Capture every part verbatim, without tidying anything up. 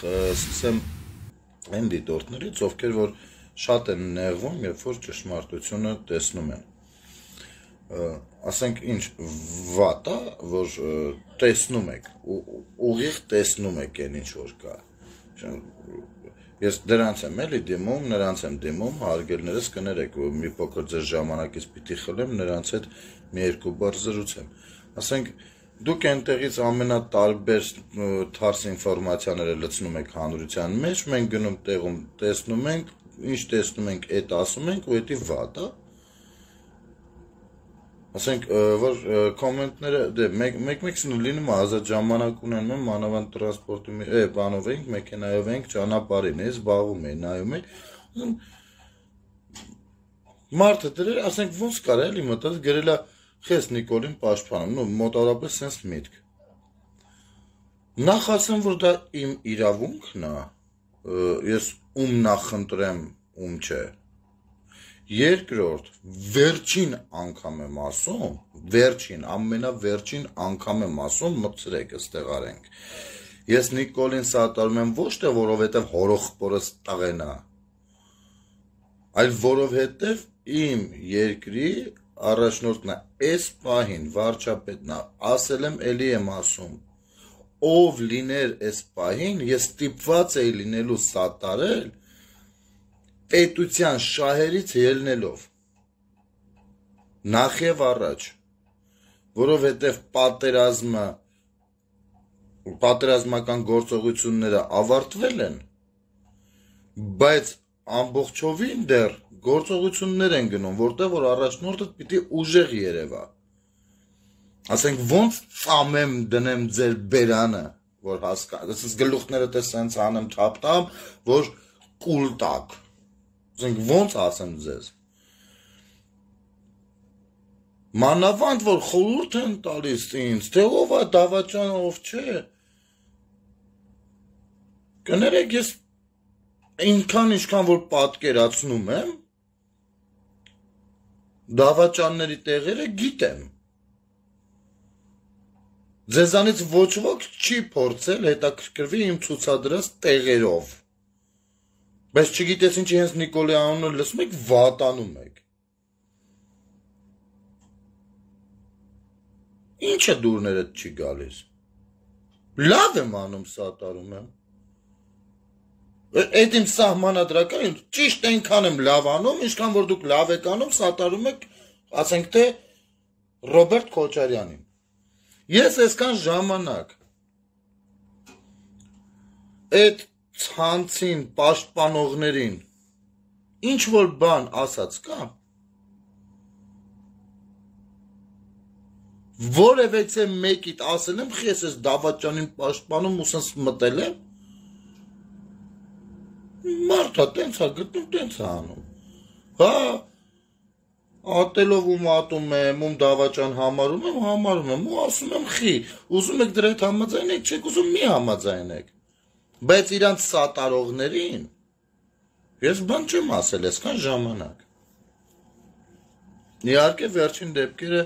սկսեմ այն դիտորդներից, ովքեր որ շատ են նեղվում, երբ որ ճշմարտությունը տեսնում են։ Ասենք ինչ վատ է, որ տեսնում եք, ուղիղ տեսնում եք այն ինչ որ կա։ Ես դրանց եմ էլի դիմում, նրանց եմ դիմում, հարգելներս կներեք, մի փոքր ձեր ժամանակից պիտի խլեմ, նրանց հետ մի երկու բառ զրուցեմ։ Ասենք դուք այնտեղից ամենատարբեր թարս ինֆորմացիաները լցնում եք հանրության մեջ, մենք գնում տեղում տեսնում ենք, ինչ տեսնում ենք, այդ ասում ենք, ու դա վատ է։ Ասենք, որ կոմենտները, դե, մեկ-մեկսն լինում է ազատ ժամանակ ունենում եմ, մանավանդ տրանսպորտի, է, բանով ենք, մեքենայով ենք, ճանապարհին է, զբաղվում է, նայում է, մարդը դրել, ասենք, ոնց կար էլի մտած, գրել է խես Նիկոլին պաշտպանում, նո, մոտավորապես սենց միտք։ Նախ ասեմ, որ դա իմ իրավունքն է, ես ում նախընտրեմ, ում չէ։ Երկրորդ, վերջին անգամ եմ ասում, վերջին, ամենավերջին անգամ եմ ասում, մտցրեք, ստեղ արենք։ Ես Նիկոլին սատարում եմ ոչ թե որովհետև հորոխպորս տղեն է, այլ որովհետև իմ երկրի առաջնորդն է, այս պահին վարչապետն է, ասել եմ, էլի եմ ասում, ով լիներ այս պահին, ես ստիպված էի լինելու սատարել պետության շահերից ելնելով, նախ և առաջ, որովհետև պատերազմը, պատերազմական գործողությունները ավարտվել են, բայց ամբողջովին դեռ գործողություններ են գնում, որտեղ որ առաջնորդը պիտի ուժեղ երևա, ասենք ոնց ծամեմ դնեմ ձեր բերանը, որ հասկա, ասենց գլուխները տես սենց անեմ թապտամ, որ կուլ տակ, ասենք ոնց ասեմ ձեզ, մանավանդ որ խորհուրդ են տալիս ինձ, թե ով է Դավաճան, ով չէ, կներեք ես ինքան ինչքան որ պատկերացնում եմ, Դավաճանների տեղերը գիտեմ, ձեզանից ոչ ոք չի փորձել հետաքրքրվի իմ ցուցադրած տեղերով, բայց չգիտես ինչի հենց Նիկոլի անունը լսում եք, վատանում եք, ինչը դուրներդ չի գալիս, լավ եմ անում սատարում եմ, այդ իմ սահմանադրական, ճիշտ այնքան եմ լավ անում, ինչքան որ դուք լավ եք անում, սատարում եք, ասենք թե Ռոբերտ Քոչարյանին, ես այսքան ժամանակ, այդ ցանցին, պաշտպանողներին, ինչ որ բան ասած կա, որևէ մեկիդ ասել եմ, ես ես Դավաճանին պաշտպանում ու սենց մտել եմ, մարդա տենց է գտնում, տենց է անում, հա, ատելով ու մատում եմ, ում Դավաճան համարում եմ, համարում եմ, ու ասում եմ խի, ուզում եք դրա հետ համաձայնեք, չեք ուզում մի համաձայնեք, բայց իրանց սատարողներին, ես բան չեմ ասել, այսքան ժամանակ, իհարկե վերջին դեպքերը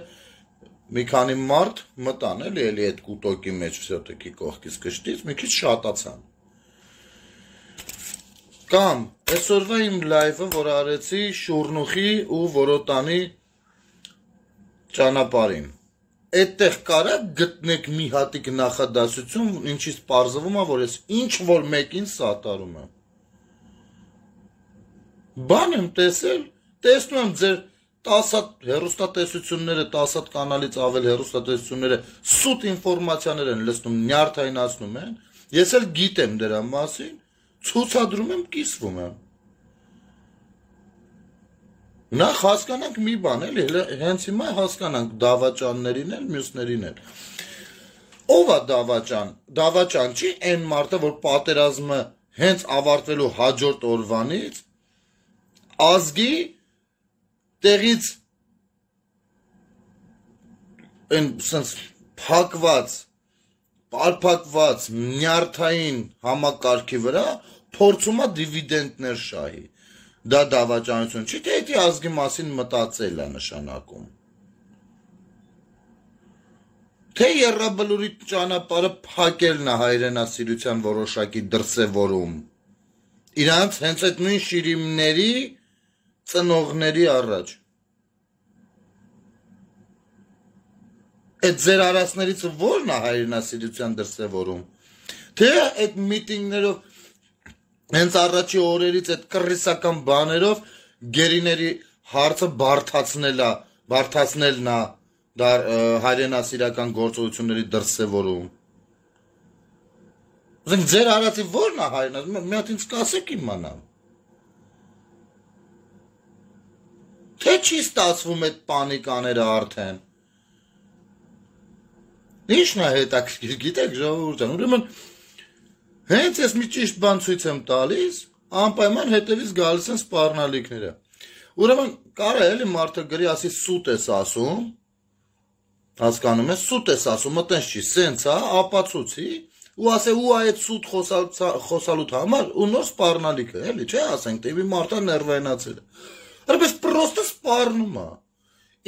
մի քանի մարդ մտան էլի, էլի այդ կուտոկի մեջ վսյոտոքի կողքից կշտից, մի քիչ շատացան, կամ այսօրվա իմ լայվը, որ արեցի Շուրնուխի ու Որոտանի ճանապարհին, այդտեղ կարա գտնեք մի հատիկ նախադասություն, ինչից պարզվում է, որ ես ինչ որ մեկին սատարում եմ, բան եմ տեսել, տեսնում եմ ձեր տասը հատ հեռուստատեսությունները, տասը հատ կանալից ավել հեռուստատեսությունները սուտ ինֆորմացիաներ են լցնում, նյարդայնացնում են, ես էլ գիտեմ դրա մասին, ցուցադրում եմ, կիսվում եմ։ Նախ հասկանանք մի բան, էլի, հենց հիմա հասկանանք Դավաճաններին էլ, մյուսներին էլ։ Ով է Դավաճան, Դավաճան չի այն մարդը, որ պատերազմը հենց ավարտվելու հաջորդ օրվանից ազգի տեղից այն սենց փակված, պարփակված նյարդային համակարգի վրա փորձում է դիվիդենդներ շահի, դա դավաճանություն չի, թե էդի ազգի մասին մտածել է նշանակում, Թե Եռաբլուրի ճանապարհը փակելն է հայրենասիրության որոշակի դրսևորում։ Իրանց հենց այդ նույն շիրիմների ծնողների առաջ։ Այդ ձեր արասներից ո՞րն է հայրենասիրության դրսևորում։ Թե այդ միտինգներով հենց առաջի օրերից այդ կռիսական բաներով գերիների հարցը բարթացնելա, բարթացնելն է դա հայրենասիրական գործողությունների դրսևորում։ Ուզենք ձեր արածի ո՞րն է հայրենասիրություն, մի հատ ինձ կասեք իմանամ։ Թե չի ստացվում այդ պանիկաները արդեն։ Ինչն է հետաքրքիր, գիտեք ժողովուրդ ջան, ուրեմն հենց ես մի ճիշտ բան ցույց եմ տալիս, անպայման հետևից գալիս են սպառնալիքները։ Ուրեմն կարա էլի մարդը գրի ասի սուտ ես ասում, հասկանում ես, սուտ ես ասում, մտենց չի, սենց է, ապացուցի, ու ասե ու այդ սուտ խոսալուտ համար ու նոր սպառնալիքը, էլի, չէ ասենք, տեւի մարդը ներվայնացել է։ Արպես պրոստը սպառնում է։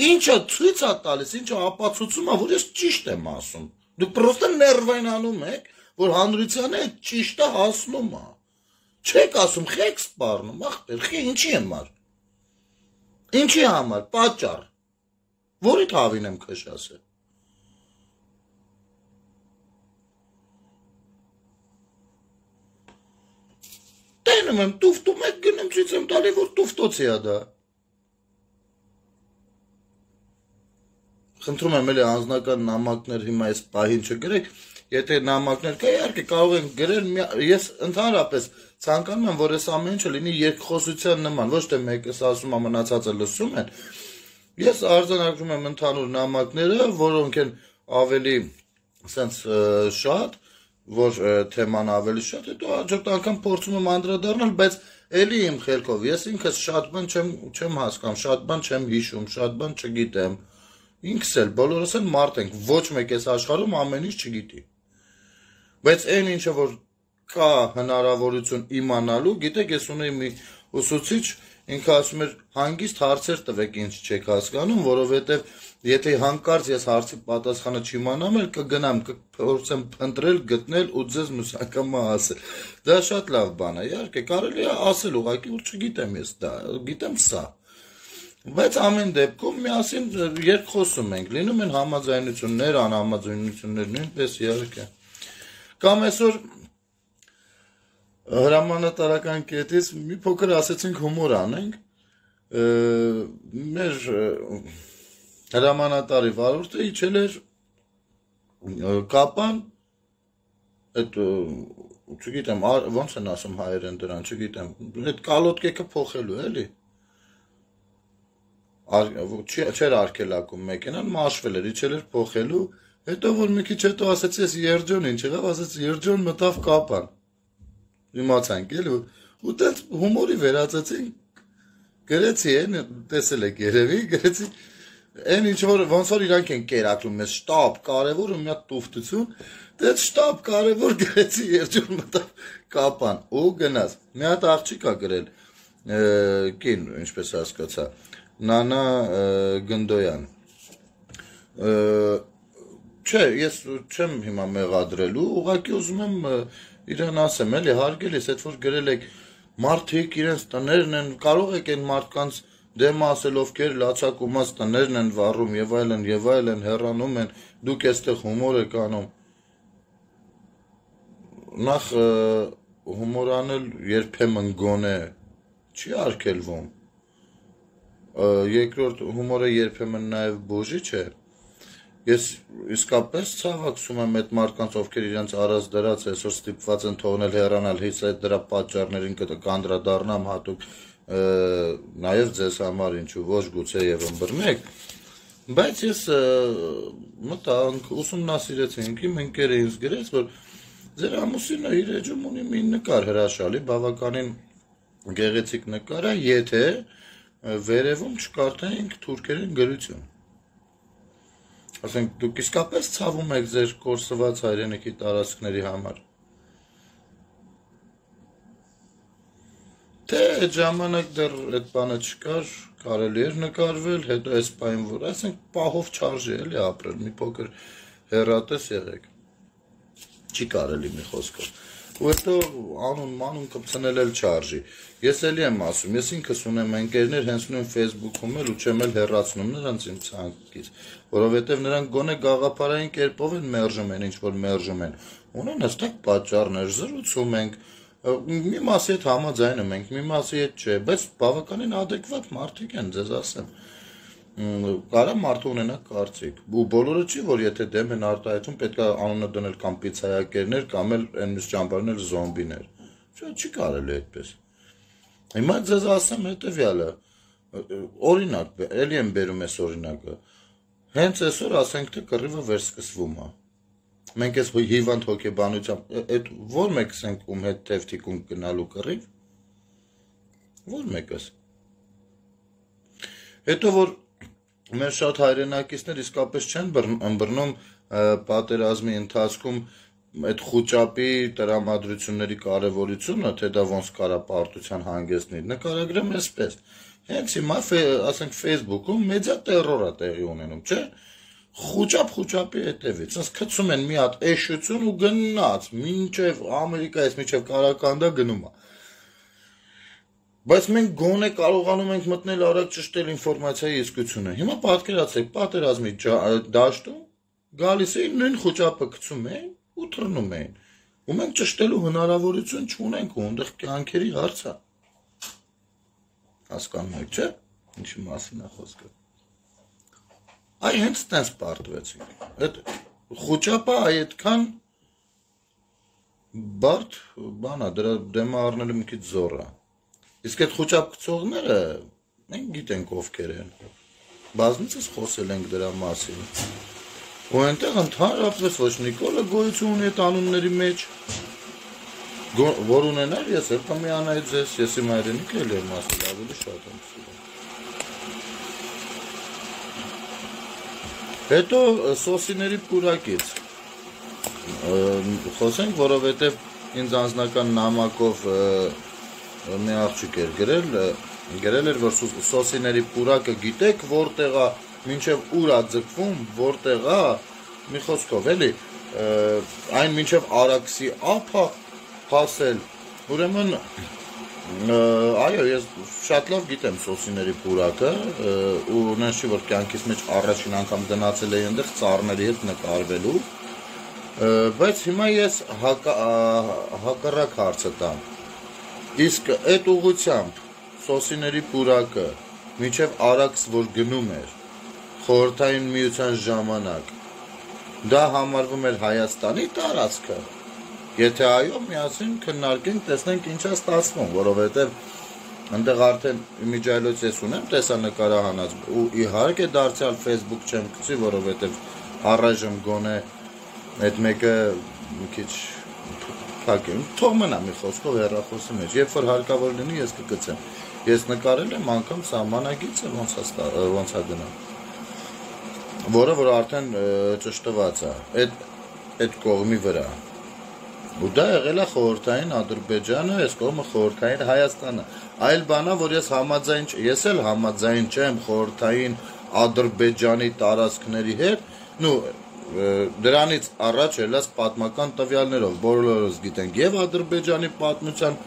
Ինչը ցույց է տալիս, ինչը ապացուցում է, որ ես ճիշտ եմ ասում։ Դուք պրոստը ներվայնանում եք, որ հանրությանը այդ ճիշտը հասնում է։ Չեք ասում, խեք սպառնում, ախպեր, խի ինչի համար։ Ինչի համար, պատճառ։ Որի թավին եմ քշ ասել։ Տենում եմ, տուֆտում եք գնում ցույց եմ տալի, որ տուֆտոցի է դա։ Խնդրում եմ էլի անձնական նամակներ հիմա այս պահին չգրեք, եթե նամակներ կա, իհարկե կարող են գրել, ես ընդհանրապես ցանկանում եմ, որ այս ամեն ինչը լինի երկխոսության նման, ոչ թե մեկս ասում է մնացածը լսում են։ Ես արձանագրում եմ ընդհանուր նամակները, որոնք են ավելի sense շատ, որ թեման ավելի շատ, հետո հաջորդ անգամ փորձում եմ անդրադառնալ, բայց էլի իմ խելքով ես ինքս շատ բան չեմ չեմ հասկանում, շատ բան չեմ հիշում, շատ բան չգիտեմ։ Ինքս էլ բոլորս էլ մարդ ենք, ոչ մեկ էս աշխարհում ամեն ինչ չգիտի։ Բայց այն ինչը որ կա հնարավորություն իմանալու, գիտեք, ես ունեի մի ուսուցիչ, ինքը ասում էր հանգիստ հարցեր տվեք, ինչ չեք հասկանում, որովհետև եթե հանկարծ ես հարցի պատասխանը չիմանամ, էլ կգնամ, կփորձեմ փնտրել, գտնել ու ձեզ մյուս անգամ ասել։ Դա շատ լավ բան է, իհարկե, կարելի է ասել ուղղակի, որ չգիտեմ ես դա, գիտեմ սա։ Բայց ամեն դեպքում միասին երկխոսում ենք, լինում են համաձայնություններ, անհամաձայնություններ, նույնպես իհարկե։ Կամ այսօր հրամանատարական կետից մի փոքր ասեցինք հումոր անենք, մեր հրամանատարի վարորդը իջել էր կապան, այդ չգիտեմ, ոնց են ասում հայերեն դրան, չգիտեմ, այդ կալոտկեքը փոխելու էլի։ Չէր արկելակում մեքենան, մաշվել էր, իջել էր փոխելու, հետո որ մի քիչ հետո ասեցի, ես երջոն ինչ եղավ, ասեցի երջոն մտավ կապան։ Իմացանք էլի, ու տենց հումորի վերածեցինք, գրեցի են, տեսել եք երևի, գրեցի, այն ինչ որ ոնց որ իրանք են կերակրում, ես շտապ կարևոր ու մի հատ տուֆտություն, տենց շտապ կարևոր գրեցի երջոն մտավ կապան, ու գնաց, մի հատ աղջիկ ա գրել, կին, ինչպես հասկացա, Նանա Գնդոյան, չէ, ես չեմ հիմա մեղադրելու, ուղղակի ուզում եմ իրան ասեմ, էլի հարգելիս, այդ որ գրել եք մարդիկ իրենց տներն են, կարող եք այն մարդկանց դեմ ասել, ովքեր լացակումած տներն են վառում եւ այլն եւ այլն հեռանում են, դուք այստեղ հումոր եք անում։ Նախ հումոր անել երբեմն գոնե չի արգելվում։ Երկրորդ հումորը երբեմն նաև բուժիչ է։ Ես իսկապես ցավակցում եմ այդ մարդկանց, ովքեր իրենց արած դրած այսօր ստիպված են թողնել հեռանալ, հենց այդ դրա պատճառներին կանդրադառնամ հատուկ նաև ձեզ համար ինչու ոչ գուցե եւ ըմբռնեք, բայց ես մտանք, ուսումնասիրեցինք, իմ ընկերը ինձ գրեց, որ ձեր ամուսինը իր էջում ունի մի նկար հրաշալի, բավականին գեղեցիկ նկար է, եթե վերևում չկարդայինք թուրքերեն գրություն։ Ասենք, դուք իսկապես ցավում եք ձեր կորսված հայրենիքի տարածքների համար։ Թե այդ ժամանակ դեռ այդ բանը չկար, կարելի էր նկարվել, հետո այս պայն որ, ասենք, պահով չարժի էլի ապրել, մի փոքր հեռատես եղեք։ Չի կարելի մի խոսքով։ Ու հետո անուն մանուն կպցնել էլ չարժի։ Ես էլի եմ ասում, ես ինքս ունեմ ընկերներ, հենց նույն Facebook-ում էլ ու չեմ էլ հեռացնում նրանց իմ ցանկից, որովհետև նրանք գոնե գաղափարային կերպով են մերժում են, ինչ որ մերժում են։ Ունեն հստակ պատճառներ, զրուցում ենք, մի մասի հետ համաձայնում ենք, մի մասի հետ չէ, բայց բավականին adekvat մարդիկ են, ձեզ ասեմ։ Կարա մարդը ունենա կարծիք, ու բոլորը չի, որ եթե դեմ են արտահայտում, պետք է անունը դնել կամ պիցայակերներ, կամ էլ այն մյուս ճամբարներ զոմբիներ։ Չի կարելի այդպես։ Հիմա ձեզ ասեմ հետևյալը, օրինակ, էլի եմ բերում այս օրինակը, հենց այսօր ասենք թե կռիվը վերսկսվում է։ Մենք այս հիվանդ հոգեբանությամբ, այդ ո՞ր մեկս ենք ում հետ թևթիկուն գնալու կռիվ։ Ո՞ր մեկս։ Հետո որ մեր շատ հայրենակիցներ իսկապես չեն ըմբռնում պատերազմի ընթացքում այդ խուճապի տրամադրությունների կարևորությունը, թե դա ոնց կարա պարտության հանգեցնի, նկարագրեմ այսպես։ Հենց հիմա, ասենք Facebook-ում մեդիա տերոր է տեղի ունենում, չէ՞։ Խուճապ խուճապի հետևից, ասես գցում են մի հատ էշություն ու գնաց, մինչև Ամերիկայից մինչև Կարականդա գնում է։ Բայց մենք գոնե կարողանում ենք մտնել արագ ճշտել ինֆորմացիայի իսկությունը։ Հիմա պատկերացրեք, պատերազմի դաշտում գալիս էին նույն խոճապը գցում էին ու թռնում էին։ Ու մենք ճշտելու հնարավորություն չունենք ու այնտեղ կյանքերի հարց է։ Հասկանում եք, չէ՞։ Ինչի մասին է խոսքը։ Այ հենց տենց պարտվեցինք։ Այդ խոճապը այդքան բարդ բան է, դրա դեմը առնելը մի քիչ զոռ է։ Իսկ այդ խոճապ գցողները մենք գիտենք ովքեր են։ Բազմիցս խոսել ենք դրա մասին։ Ու այնտեղ ընդհանրապես ոչ Նիկոլը գոյություն ունի այդ անունների մեջ, որ ունենար ես էլ կմիանայի ձեզ, ես իմ հայրենիքը էլ եմ ասել, ավելի շատ եմ սիրում։ Հետո սոսիների պուրակից խոսենք, որովհետև ինձ անձնական նամակով մի աղջիկ էր գրել, գրել էր, որ սոսիների պուրակը գիտեք, որտեղ է, մինչև ուր է ձգվում, որտեղ է, մի խոսքով, էլի, այն մինչև Արաքսի ափ է հասել, ուրեմն, այո, ես շատ լավ գիտեմ սոսիների պուրակը, ու նենց չի, որ կյանքիս մեջ առաջին անգամ գնացել էի այնտեղ ծառների հետ նկարվելու, բայց հիմա ես հակառակ հարցը տամ։ Իսկ այդ ուղղությամբ սոսիների պուրակը մինչև Արաքս որ գնում էր խորհրդային միության ժամանակ դա համարվում էր Հայաստանի տարածքը։ Եթե այո, միասին քննարկենք, տեսնենք ինչ է ստացվում, որովհետև այնտեղ արդեն իմիջիայլոց ես ունեմ տեսանկարահանած ու իհարկե դարձյալ Facebook չեմ գցի, որովհետև առայժմ գոնե այդ մեկը մի քիչ Հակեմ, թող մնա մի խոսքով հեռախոսի մեջ, երբ որ հարկավոր լինի, ես կգցեմ։ Ես նկարել եմ անգամ սահմանագիծը ոնց է գնում, որը որ արդեն ճշտված է, այդ կողմի վրա։ Ու դա եղել է խորհրդային Ադրբեջանը, այս կողմը խորհրդային Հայաստանը։ Այլ բան է, որ ես համաձայն, ես էլ համաձայն չեմ խորհրդային Ադրբեջանի տարածքների հետ, նու դրանից առաջ ելած պատմական տվյալներով բոլորս գիտենք եւ Ադրբեջանի պատմության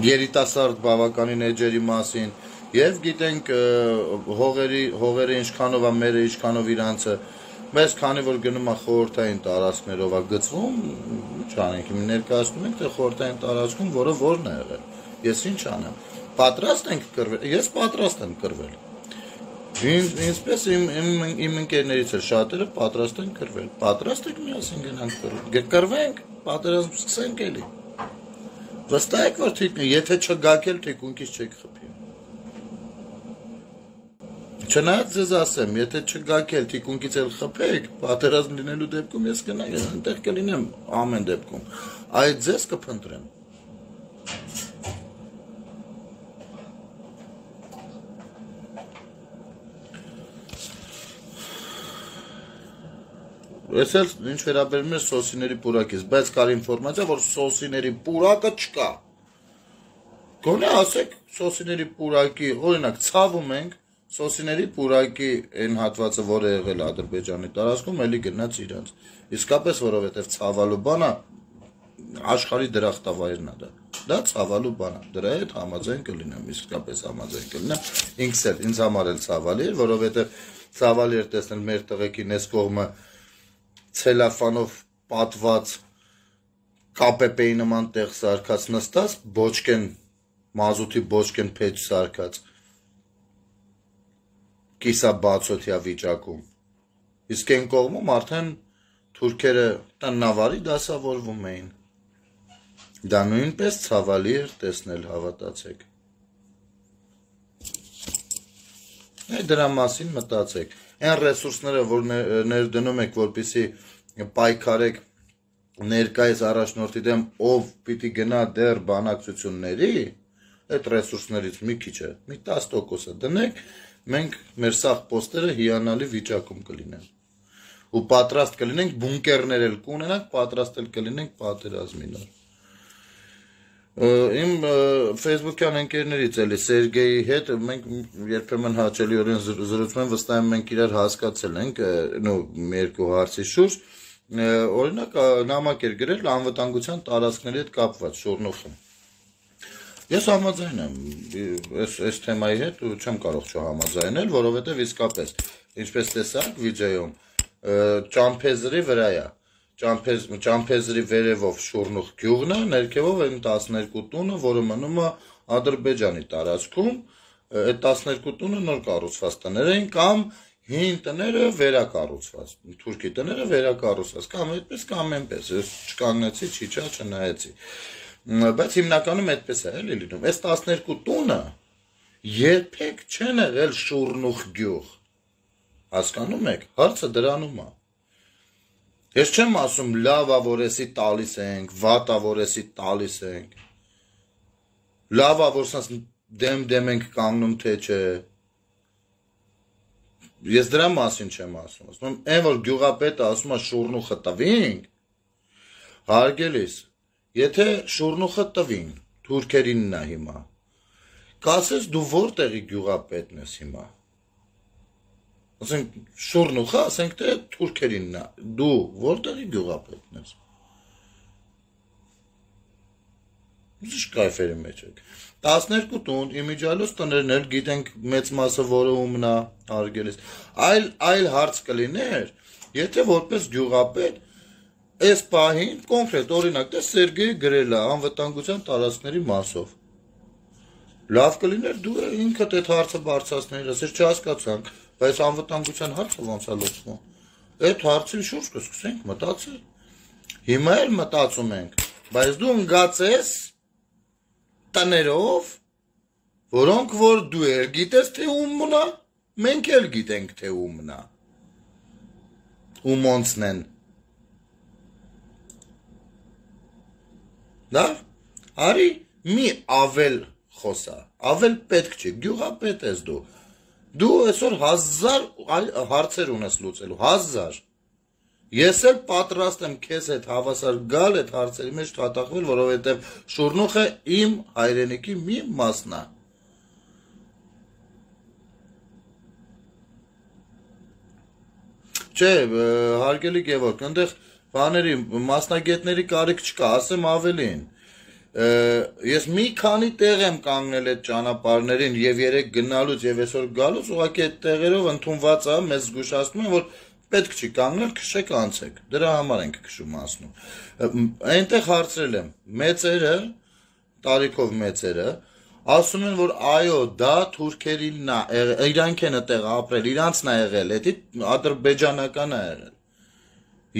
երիտասարդ բավականին էջերի մասին եւ գիտենք հողերի հողերը ինչքանով է մերը ինչքանով իրանցը բայց քանի որ գնում է խորհրդային տարածքներով է գծվում չանենք իմ ներկայացնում ենք թե խորհրդային տարածքում որը որն է եղել ես ինչ անեմ պատրաստ ենք կռվել ես պատրաստ եմ կռվել Ինչպես իմ ընկերներից էլ շատերը պատրաստ են կռվել, պատրաստ եք միասին գնանք կռվել, կռվենք, պատերազմ սկսենք էլի, վստահ եք, որ եթե չգաք էլ թիկունքից չեք խփի, չնայած ձեզ ասեմ, եթե չգաք էլ թիկունքից էլ խփեք, պատերազմ լինելու դեպքում ես գնա, ես այնտեղ կլինեմ ամեն դեպքում, այդ ձեզ կփնտրեմ, Ես էլ ինչ վերաբերում է սոսիների պուրակից, բայց կար ինֆորմացիա, որ սոսիների պուրակը չկա։ Գոնե ասեք սոսիների պուրակի, օրինակ ցավում ենք, սոսիների պուրակի այն հատվածը, որը եղել Ադրբեջանի տարածքում, էլի գնաց իրանց։ Իսկապես, որովհետև ցավալու բանա աշխարհի դրախտավայրն է դա։ Դա ցավալու բան է։ Դրա հետ համաձայն կլինեմ, իսկապես համաձայն կլինեմ։ Ինքս էլ ինձ համար էլ ցավալի էր, որովհետև ցավալի էր տեսնել մեր տղեկին այս կողմը ցելոֆանով պատված կապեպեի նման տեղ սարքած նստած, բոճկեն մազութի բոճկեն փեջ սարքած կիսաբացօթյա վիճակում։ Իսկ այն կողմում արդեն թուրքերը տնավարի դասավորվում էին։ Դա նույնպես ցավալի էր տեսնել, հավատացեք։ Այդ դրա մասին մտածեք։ Այն ռեսուրսները, որ ներդնում եք, որպեսզի պայքարեք ներկայիս առաջնորդի դեմ, ով պիտի գնա դեռ բանակցությունների, այդ ռեսուրսներից մի քիչը, մի տասը տոկոսը դնեք, մենք մեր սաղ պոստերը հիանալի վիճակում կլինեն։ Ու պատրաստ կլինենք բունկերներ էլ կունենանք, պատրաստ էլ կլինենք պատերազմի նոր։ Իմ Facebook-յան ընկերներից էլի Սերգեյի հետ մենք երբեմն հաճելիորեն զրուցում ենք, վստահ եմ մենք իրար հասկացել ենք, նո մի երկու հարցի շուրջ, օրինակ նամակ էր գրել անվտանգության տարածքների հետ կապված Շորնոխում։ Ես համաձայն եմ այս այս թեմայի հետ ու չեմ կարող չհամաձայնել, որովհետև իսկապես, ինչպես տեսաք վիդեոյում, ճամփեզրի վրա է, ճամփեզրի վերևով Շորնուխ գյուղն է, ներքևով այն տասներկու տունը, որը մնում է Ադրբեջանի տարածքում, այդ տասներկու տունը նոր կառուցված տներ էին կամ հին տները վերակառուցված, թուրքի տները վերակառուցված, կամ այդպես կամ այնպես, ես չկանգնեցի, չիջա, չնայեցի։ Բայց հիմնականում այդպես է էլի լինում։ Այս տասներկու տունը երբեք չեն եղել Շորնուխ գյուղ։ Հասկանում եք, հարցը դրանում է։ Ես չեմ ասում լավ է, որ էսի տալիս ենք, վատ է, որ էսի տալիս ենք։ Լավ է, որ սանց դեմ-դեմ ենք կանգնում, թե չէ։ Ես դրա մասին չեմ ասում։ Ասում եմ, այն որ գյուղապետը ասում է Շորնուխը տվինք, հարգելիս, եթե Շորնուխը տվին, թուրքերինն է հիմա, կասես դու որտեղի գյուղապետն ես հիմա։ Ասենք Շորնուխը, ասենք թե թուրքերինն է, դու որտեղի գյուղապետն ես։ Ինչ կայֆերի մեջ եք։ տասներկու տուն, իմիջիալոց տներն էլ գիտենք մեծ մասը որը ումն է, հարգելիս։ Այլ այլ հարց կլիներ, եթե որպես գյուղապետ այս պահին կոնկրետ օրինակ դե Սերգեյը գրել է անվտանգության տարածքների մասով։ Լավ կլիներ դու ինքդ այդ հարցը բարձրացնեիր, ասես չհասկացանք, բայց անվտանգության հարցը ոնց է լուծվում։ Այդ հարցի շուրջ կսկսենք մտածել։ Հիմա էլ մտածում ենք, բայց դու ընկած տներով, որոնք որ դու էլ գիտես թե ումն է, մենք էլ գիտենք թե ումն է։ Ումոնցն են։ Դա արի մի ավել խոսա, ավել պետք չի, գյուղապետ ես դու։ Դու այսօր հազար հարցեր ունես լուծելու, հազար։ Ես էլ պատրաստ եմ քեզ հետ հավասար գալ այդ հարցերի մեջ թաթախվել, որովհետև Շորնուխը իմ հայրենիքի մի մասն է։ Չէ, հարգելի Գևորգ, այնտեղ բաների մասնագետների կարիք չկա, ասեմ ավելին։ Ես մի քանի տեղ եմ կանգնել այդ ճանապարհներին եւ երեք գնալուց եւ այսօր գալուց, ուղղակի այդ տեղերով ընդունված է, մեզ զգուշացնում են, որ պետք չի կանգնել, քշեք անցեք։ Դրա համար ենք քշում ասնում։ Այնտեղ հարցրել եմ մեծերը, տարիքով մեծերը, ասում են, որ այո, դա թուրքերինն է, իրանք են այդտեղ ապրել, իրանցն է եղել, դա ադրբեջանական է եղել։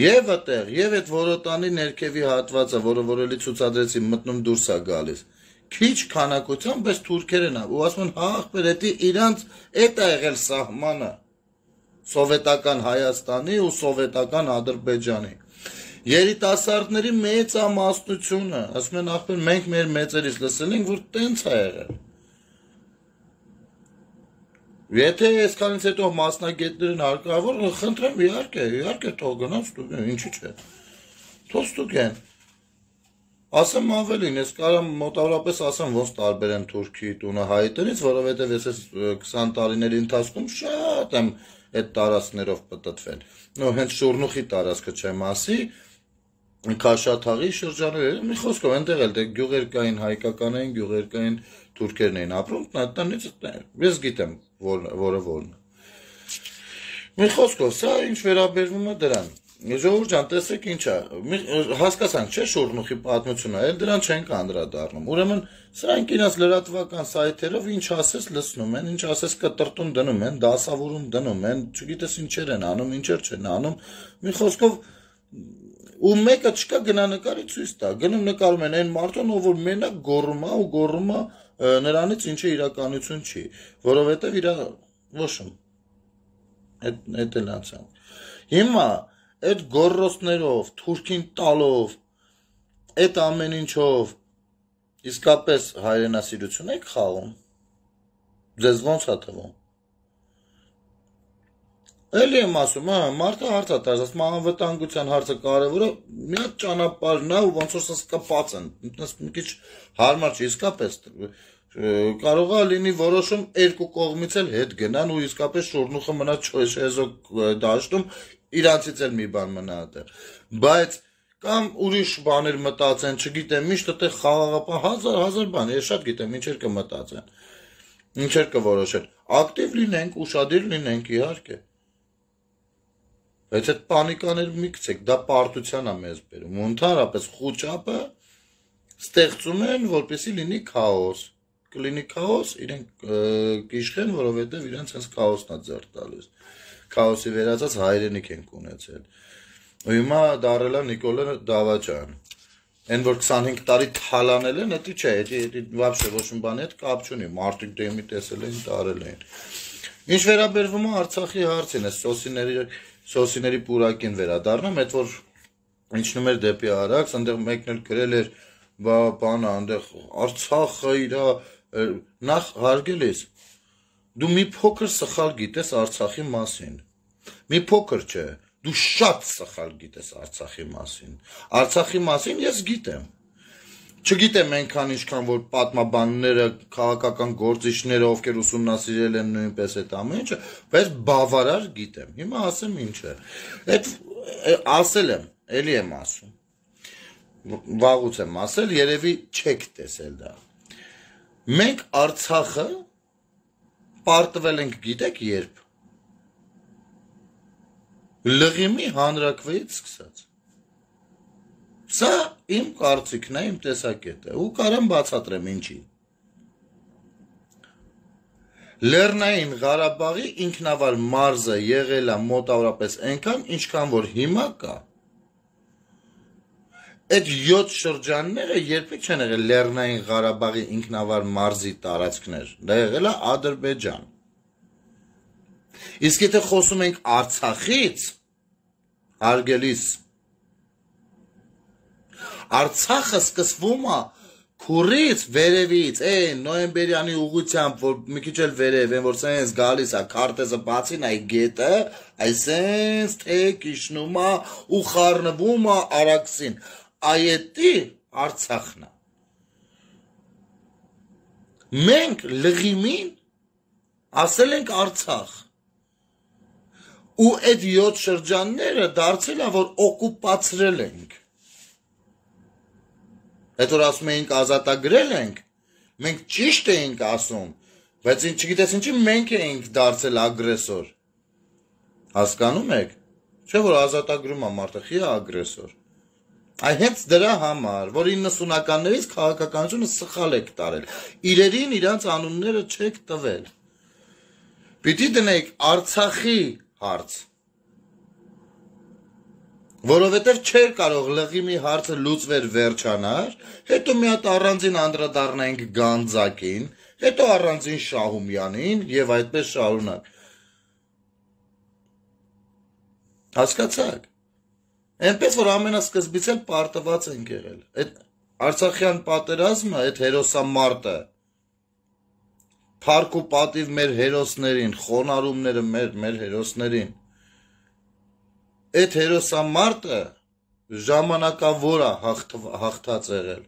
Եվ այդտեղ, եւ այդ որոտանի ներքևի հատվածը, որը որելի ցուցադրեցի, մտնում դուրս է գալիս։ Քիչ քանակությամբ, բայց թուրքերն է, ու ասում են, հա, ախպեր, դա իրանց այդ է եղել սահմանը սովետական Հայաստանի ու սովետական Ադրբեջանի։ Երիտասարդների մեծամասնությունը, ասում են, ախպեր, մենք մեր մեծերից լսել ենք, որ տենց է եղել։ Եթե այսքանից հետո մասնագետներն հարկավոր, խնդրեմ, իհարկե, իհարկե թող գնան ստուգեն, ինչի՞ չէ։ Թող ստուգեն։ Ասեմ ավելին, ես կարամ մոտավորապես ասեմ ոնց տարբեր են Թուրքի տունը Հայի տնից, որովհետև ես այս քսան տարիների ընթացքում շատ եմ այդ տարածքներով պտտվել։ Նո հենց Շուռնուխի տարածքը չեմ ասի, Քաշաթաղի շրջանները, մի խոսքով այնտեղ էլ դե գյուղերկային հայկական էին, գյուղերկային թուրքերն էին ապրում, տնից ես գիտեմ որը որն։ Մի խոսքով, սա ինչ վերաբերվում է դրան։ Ժողովուրդ ջան, տեսեք ինչա, հասկացանք, չէ՞ Շուռնուխի պատմությունը, այլ դրան չենք անդրադառնում։ Ուրեմն սրանք իրաց լրատվական սայթերով ինչ ասես լցնում են, ինչ ասես կտրտում դնում են, դասավորում դնում են, չգիտես ինչեր են անում, ինչեր չեն անում։ Մի խոսքով ու մեկը չկա գնա նկարի ցույց տա։ Գնում նկարում են այն մարդուն, ով որ մենակ գոռում է ու գոռում է նրանից ինչը իրականություն չի, որովհետև իր ոչմ այդ այդ էլ անցան։ Հիմա այդ գոռոցներով, թուրքին տալով, այդ ամեն ինչով իսկապես հայրենասիրություն եք խաղում։ Ձեզ ոնց է թվում։ Էլի եմ ասում, հա, մարդը հարց է տալիս, ասում անվտանգության հարցը կարևոր է, մի հատ ճանապարհն է ու ոնց որ սա կապած են։ Մի քիչ հարմար չի, իսկապես կարող է լինի որոշում երկու կողմից էլ հետ գնան ու իսկապես Շուռնուխը մնա չեզոք դաշտում, իրանցից էլ մի բան մնա այդտեղ։ Բայց կամ ուրիշ բաներ մտածեն, չգիտեմ, միշտ այդտեղ խաղաղապահ հազար հազար բան, ես շատ գիտեմ ինչեր կմտածեն։ Ինչեր կորոշեն։ Ակտիվ լինենք, ուշադիր լինենք, իհարկե։ Բայց այդ պանիկաներ մի գցեք, դա պարտության է մեզ բերում։ Ու ընդհանրապես խուճապը ստեղծում են, որպեսզի լինի քաոս։ Կլինի քաոս, իրենք կիշխեն, որովհետև իրենց հենց քաոսն է ձեռք տալիս։ Քաոսի վերածած հայրենիք են ունեցել։ Ու հիմա դարել է Նիկոլա Դավաճան։ Այն որ քսանհինգ տարի թալանել են, դա չէ, դա вообще ոչ մի բանի հետ կապ չունի։ Մարդիկ դեմի տեսել են, տարել են։ Ինչ վերաբերվում է Արցախի հարցին, այս սոսիների Սոսիների պուրակին վերադառնամ, այդ որ ինչնում էր դեպի Արաքս, այնտեղ մեկն էլ գրել էր, բա բանը, այնտեղ Արցախը իր նախ հարգելիս, դու մի փոքր սխալ գիտես Արցախի մասին, մի փոքր չէ, դու շատ սխալ գիտես Արցախի մասին, Արցախի մասին ես գիտեմ, չգիտեմ այնքան ինչքան որ պատմաբանները, քաղաքական գործիչները, ովքեր ուսումնասիրել են նույնպես այդ ամեն ինչը, բայց բավարար գիտեմ։ Հիմա ասեմ ինչ է։ Այդ ասել եմ, էլի եմ ասում։ Վաղուց եմ ասել, երևի չեք տեսել դա։ Մենք Արցախը պարտվել ենք, գիտեք երբ։ Լղիմի հանրաքվեից սկսած։ Սա իմ կարծիքն է, իմ տեսակետը, ու կարամ բացատրեմ ինչի։ Լեռնային Ղարաբաղի ինքնավար մարզը եղել է մոտավորապես այնքան, ինչքան որ հիմա կա։ Այդ յոթ շրջանները երբեք չեն եղել Լեռնային Ղարաբաղի ինքնավար մարզի տարածքներ, դա եղել է Ադրբեջան։ Իսկ եթե խոսում ենք Արցախից, հարգելիս, Արցախը սկսվում է քուրից, վերևից, այն նոյեմբերյանի ուղությամբ, որ մի քիչ էլ վերև, այն որ սենց գալիս է, քարտեզը բացին այ գետը, այսենց թեք իջնում է ու խառնվում է Արաքսին, այետի Արցախն է։ Մենք լղիմին ասել ենք Արցախ, ու այդ յոթ շրջանները դարձել է, որ օկուպացրել ենք։ Այդ որ ասում էինք ազատագրել ենք, մենք ճիշտ էինք ասում, բայց չգիտես ինչի մենք էինք դարձել ագրեսոր։ Հասկանում եք, չէ որ ազատագրում է մարդը, խի է ագրեսոր։ Այ հենց դրա համար, որ իննսունականներից քաղաքականությունը սխալ եք տարել, իրերին իրանց անունները չեք տվել։ Պիտի դնեք Արցախի հարց, որովհետև չէր կարող լղիմի հարցը լուծվեր վերջանար, հետո մի հատ առանձին անդրադառնայինք Գանձակին, հետո առանձին Շահումյանին եւ այդպես շարունակ։ Հասկացաք։ Այնպես որ ամենասկզբից էլ պարտված ենք եղել։ Այդ Արցախյան պատերազմը, այդ հերոսամարտը, փառք ու պատիվ մեր հերոսներին, խոնարհումները մեր մեր հերոսներին։ Այդ հերոսամարտը ժամանակավոր է հաղթած եղել,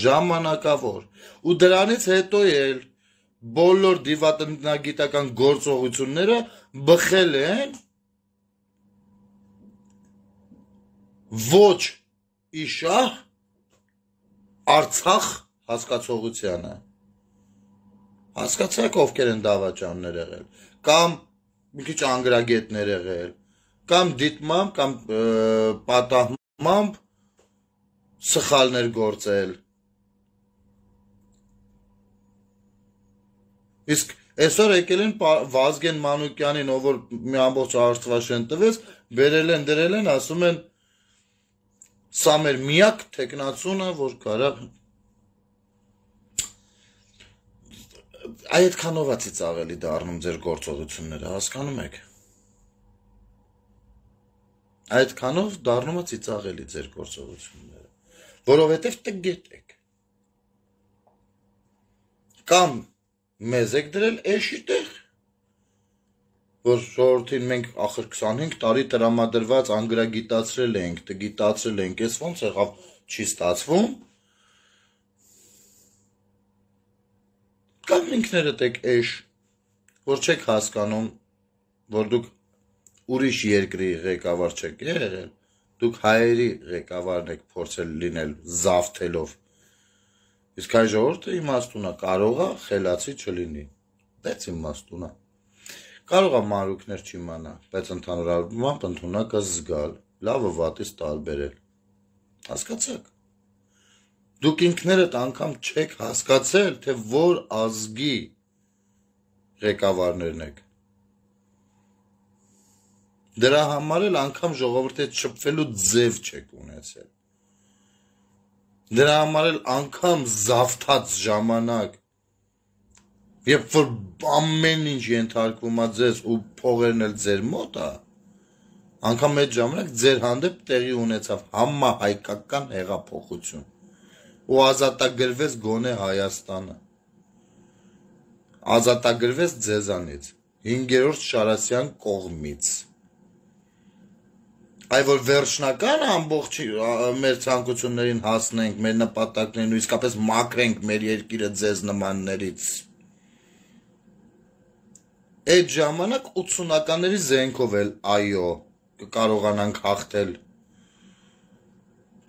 ժամանակավոր, ու դրանից հետո էլ բոլոր դիվատնագիտական գործողությունները բխել են ոչ իշահ Արցախ հասկացողությանը, հասկացաք ովքեր են դավաճաններ եղել, կամ մի քիչ անգրագետներ եղել, կամ դիտմամբ, կամ պատահմամբ սխալներ գործել, իսկ այսօր եկել են Վազգեն Մանուկյանին, ով որ մի ամբողջ Աստվածաշեն տվեց, բերել են, դրել են, ասում են, սա մեր միակ թեկնածունը, որ կարա այդքանով է ծիծաղելի դառնում ձեր գործողությունները, հասկանում եք։ Այդքանով դառնում է ծիծաղելի ձեր գործողությունները, որովհետև տգետ եք։ Կամ մեզ եք դրել էշի տեղ, որ ժողովրդին մենք ախր քսանհինգ տարի տրամադրված անգրագիտացրել ենք, տգիտացրել ենք, ես ոնց եղավ չի ստացվում, կամ ինքներդ եք էշ, որ չեք հասկանում, որ դուք ուրիշ երկրի ղեկավար չեք եղել, դուք հայերի ղեկավարն եք փորձել լինել զավթելով, իսկ հայ ժողովուրդը իմաստուն է, կարող է խելացի չլինի, բայց իմաստուն է, կարող է մանրուքներ չիմանա, բայց ընդհանուր առմամբ ընդունակ է զգալ, լավը վատից տարբերել, հասկացաք, դուք ինքներդ անգամ չեք հասկացել, թե որ ազգի ղեկավարներն եք, դրա համար էլ անգամ ժողովրդի հետ շփվելու ձև չեք ունեցել, դրա համար էլ անգամ զավթած ժամանակ, երբ որ ամեն ինչ ենթարկվում է ձեզ ու փողերն էլ ձեր մոտ է, անգամ այդ ժամանակ ձեր հանդեպ տեղի ունեցավ համահայկական հեղափոխություն ու ազատագրվեց գոնե Հայաստանը, ազատագրվեց ձեզանից, հինգերորդ Շարասյան կողմից, այ որ վերջնական ամբողջ մեր ցանկություններին հասնենք, մեր նպատակներին ու իսկապես մաքրենք մեր երկիրը ձեզ նմաններից, այդ ժամանակ ութսունականների զենքով էլ այո կարողանանք հաղթել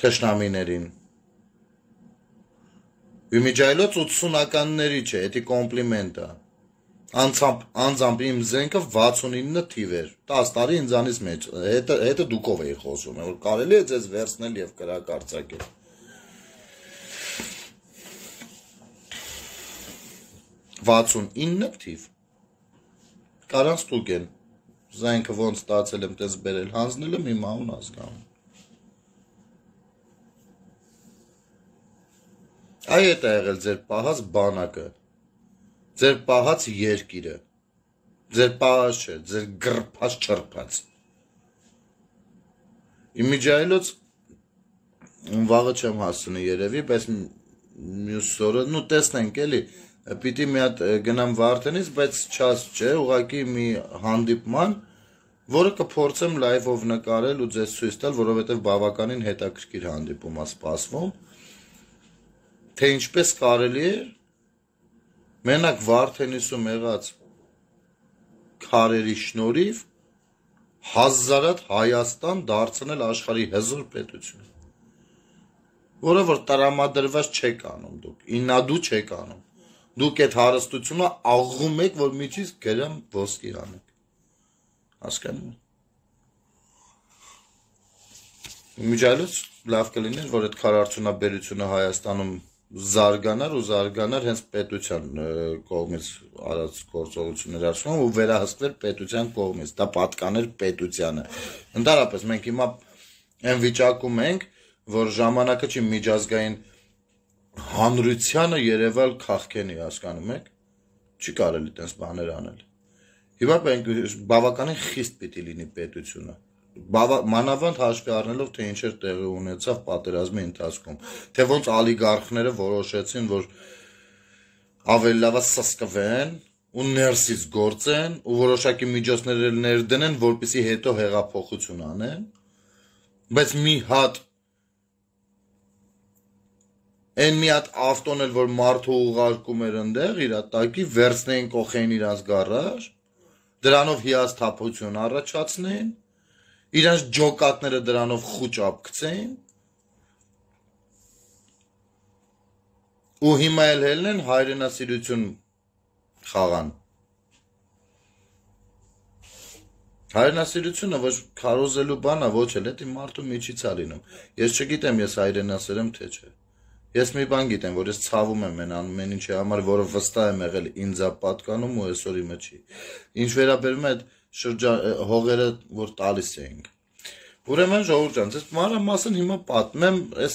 թշնամիներին, իմիջայլոց ութսունականների չէ, էդի կոմպլիմենտ է, անձամբ իմ զենքը վաթսունինը թիվ էր, տաս տարի ինձանից մեջ, հետը դուքով էի խոսում, որ կարելի է ձեզ վերցնել և կրակ արձակել, վաթսունինը թիվ, կարան ստուկ են, զենքը ոնց ստացել եմ տես բերել, հանձնել եմ իմ անուն ազգանում, այ էդ է եղել ձեր պահած բանակը, ձեր պահած երկիրը, ձեր պահած չէ, ձեր գրպած չրպած, իմիջայլոց վաղը չեմ հասցնի երևի, բայց մյուս օրը, նու տեսնենք էլի, պիտի մի հատ գնամ Վարդենից, բայց չաս չէ, ուղղակի մի հանդիպման, որը կփորձեմ լայվով նկարել ու ձեզ ցույց տալ, որովհետև բավականին հետաքրքիր հանդիպում է սպասվում, թե ինչպես կարելի է մենակ Վարդենիսում եղած քարերի շնորհիվ հազարատ Հայաստան դարձնել աշխարհի հզոր պետություն, որը որ տրամադրված չեք անում դուք, ինադու չեք անում, դուք այդ հարստությունը աղում եք, որ միջից գրամ ոսկի անեք, հասկանում եք, միջայլոց լավ կլիներ, որ այդ քարարդյունաբերությունը Հայաստանում զարգանար ու զարգանար հենց պետության կողմից արած գործողություններ արվում ու վերահսկվեր պետության կողմից, դա պատկաներ պետությանը, ընդհանրապես մենք հիմա այն վիճակում ենք, որ ժամանակը չի միջազգային հանրությանը երևալ քաղքենի, հասկանում եք, չի կարելի տենց բաներ անել, հիմա բավականին խիստ պիտի լինի պետությունը, մանավանդ հաշվի առնելով, թե ինչեր տեղի ունեցավ պատերազմի ընթացքում, թե ոնց ալիգարխները որոշեցին, որ ավելի լավ է սսկվեն ու ներսից գործեն ու որոշակի միջոցներ ներդնեն, որպեսզի հետո հեղափոխություն անեն, բայց մի հատ Են մի հատ ավտոն էլ, որ մարդու ուղարկում էր ընդեղ, իր տակի վերցնեին կողեին իրանց գարաժ, դրանով հիասթափություն առաջացնեին, իրանց ջոկատները դրանով խուճ ապկցեին, ու հիմա էլ հելնեն հայրենասիրություն խաղան։ Հայրենասիրությունը ոչ քարոզելու բան է, ոչ էլ, դա մարդու միջից է լինում։ Ես չգիտեմ, ես հայրենասեր եմ, թե չէ։ Ես մի բան գիտեմ, որ ես ցավում եմ այն ամեն ինչի համար, որը վստահ եմ եղել ինձ է պատկանում ու այսօր իմը չի։ Ինչ վերաբերում է այդ շրջան հողերը, որ տալիս էինք։ Ուրեմն ժողովուրդ ջան, ես մանրամասն հիմա պատմեմ այս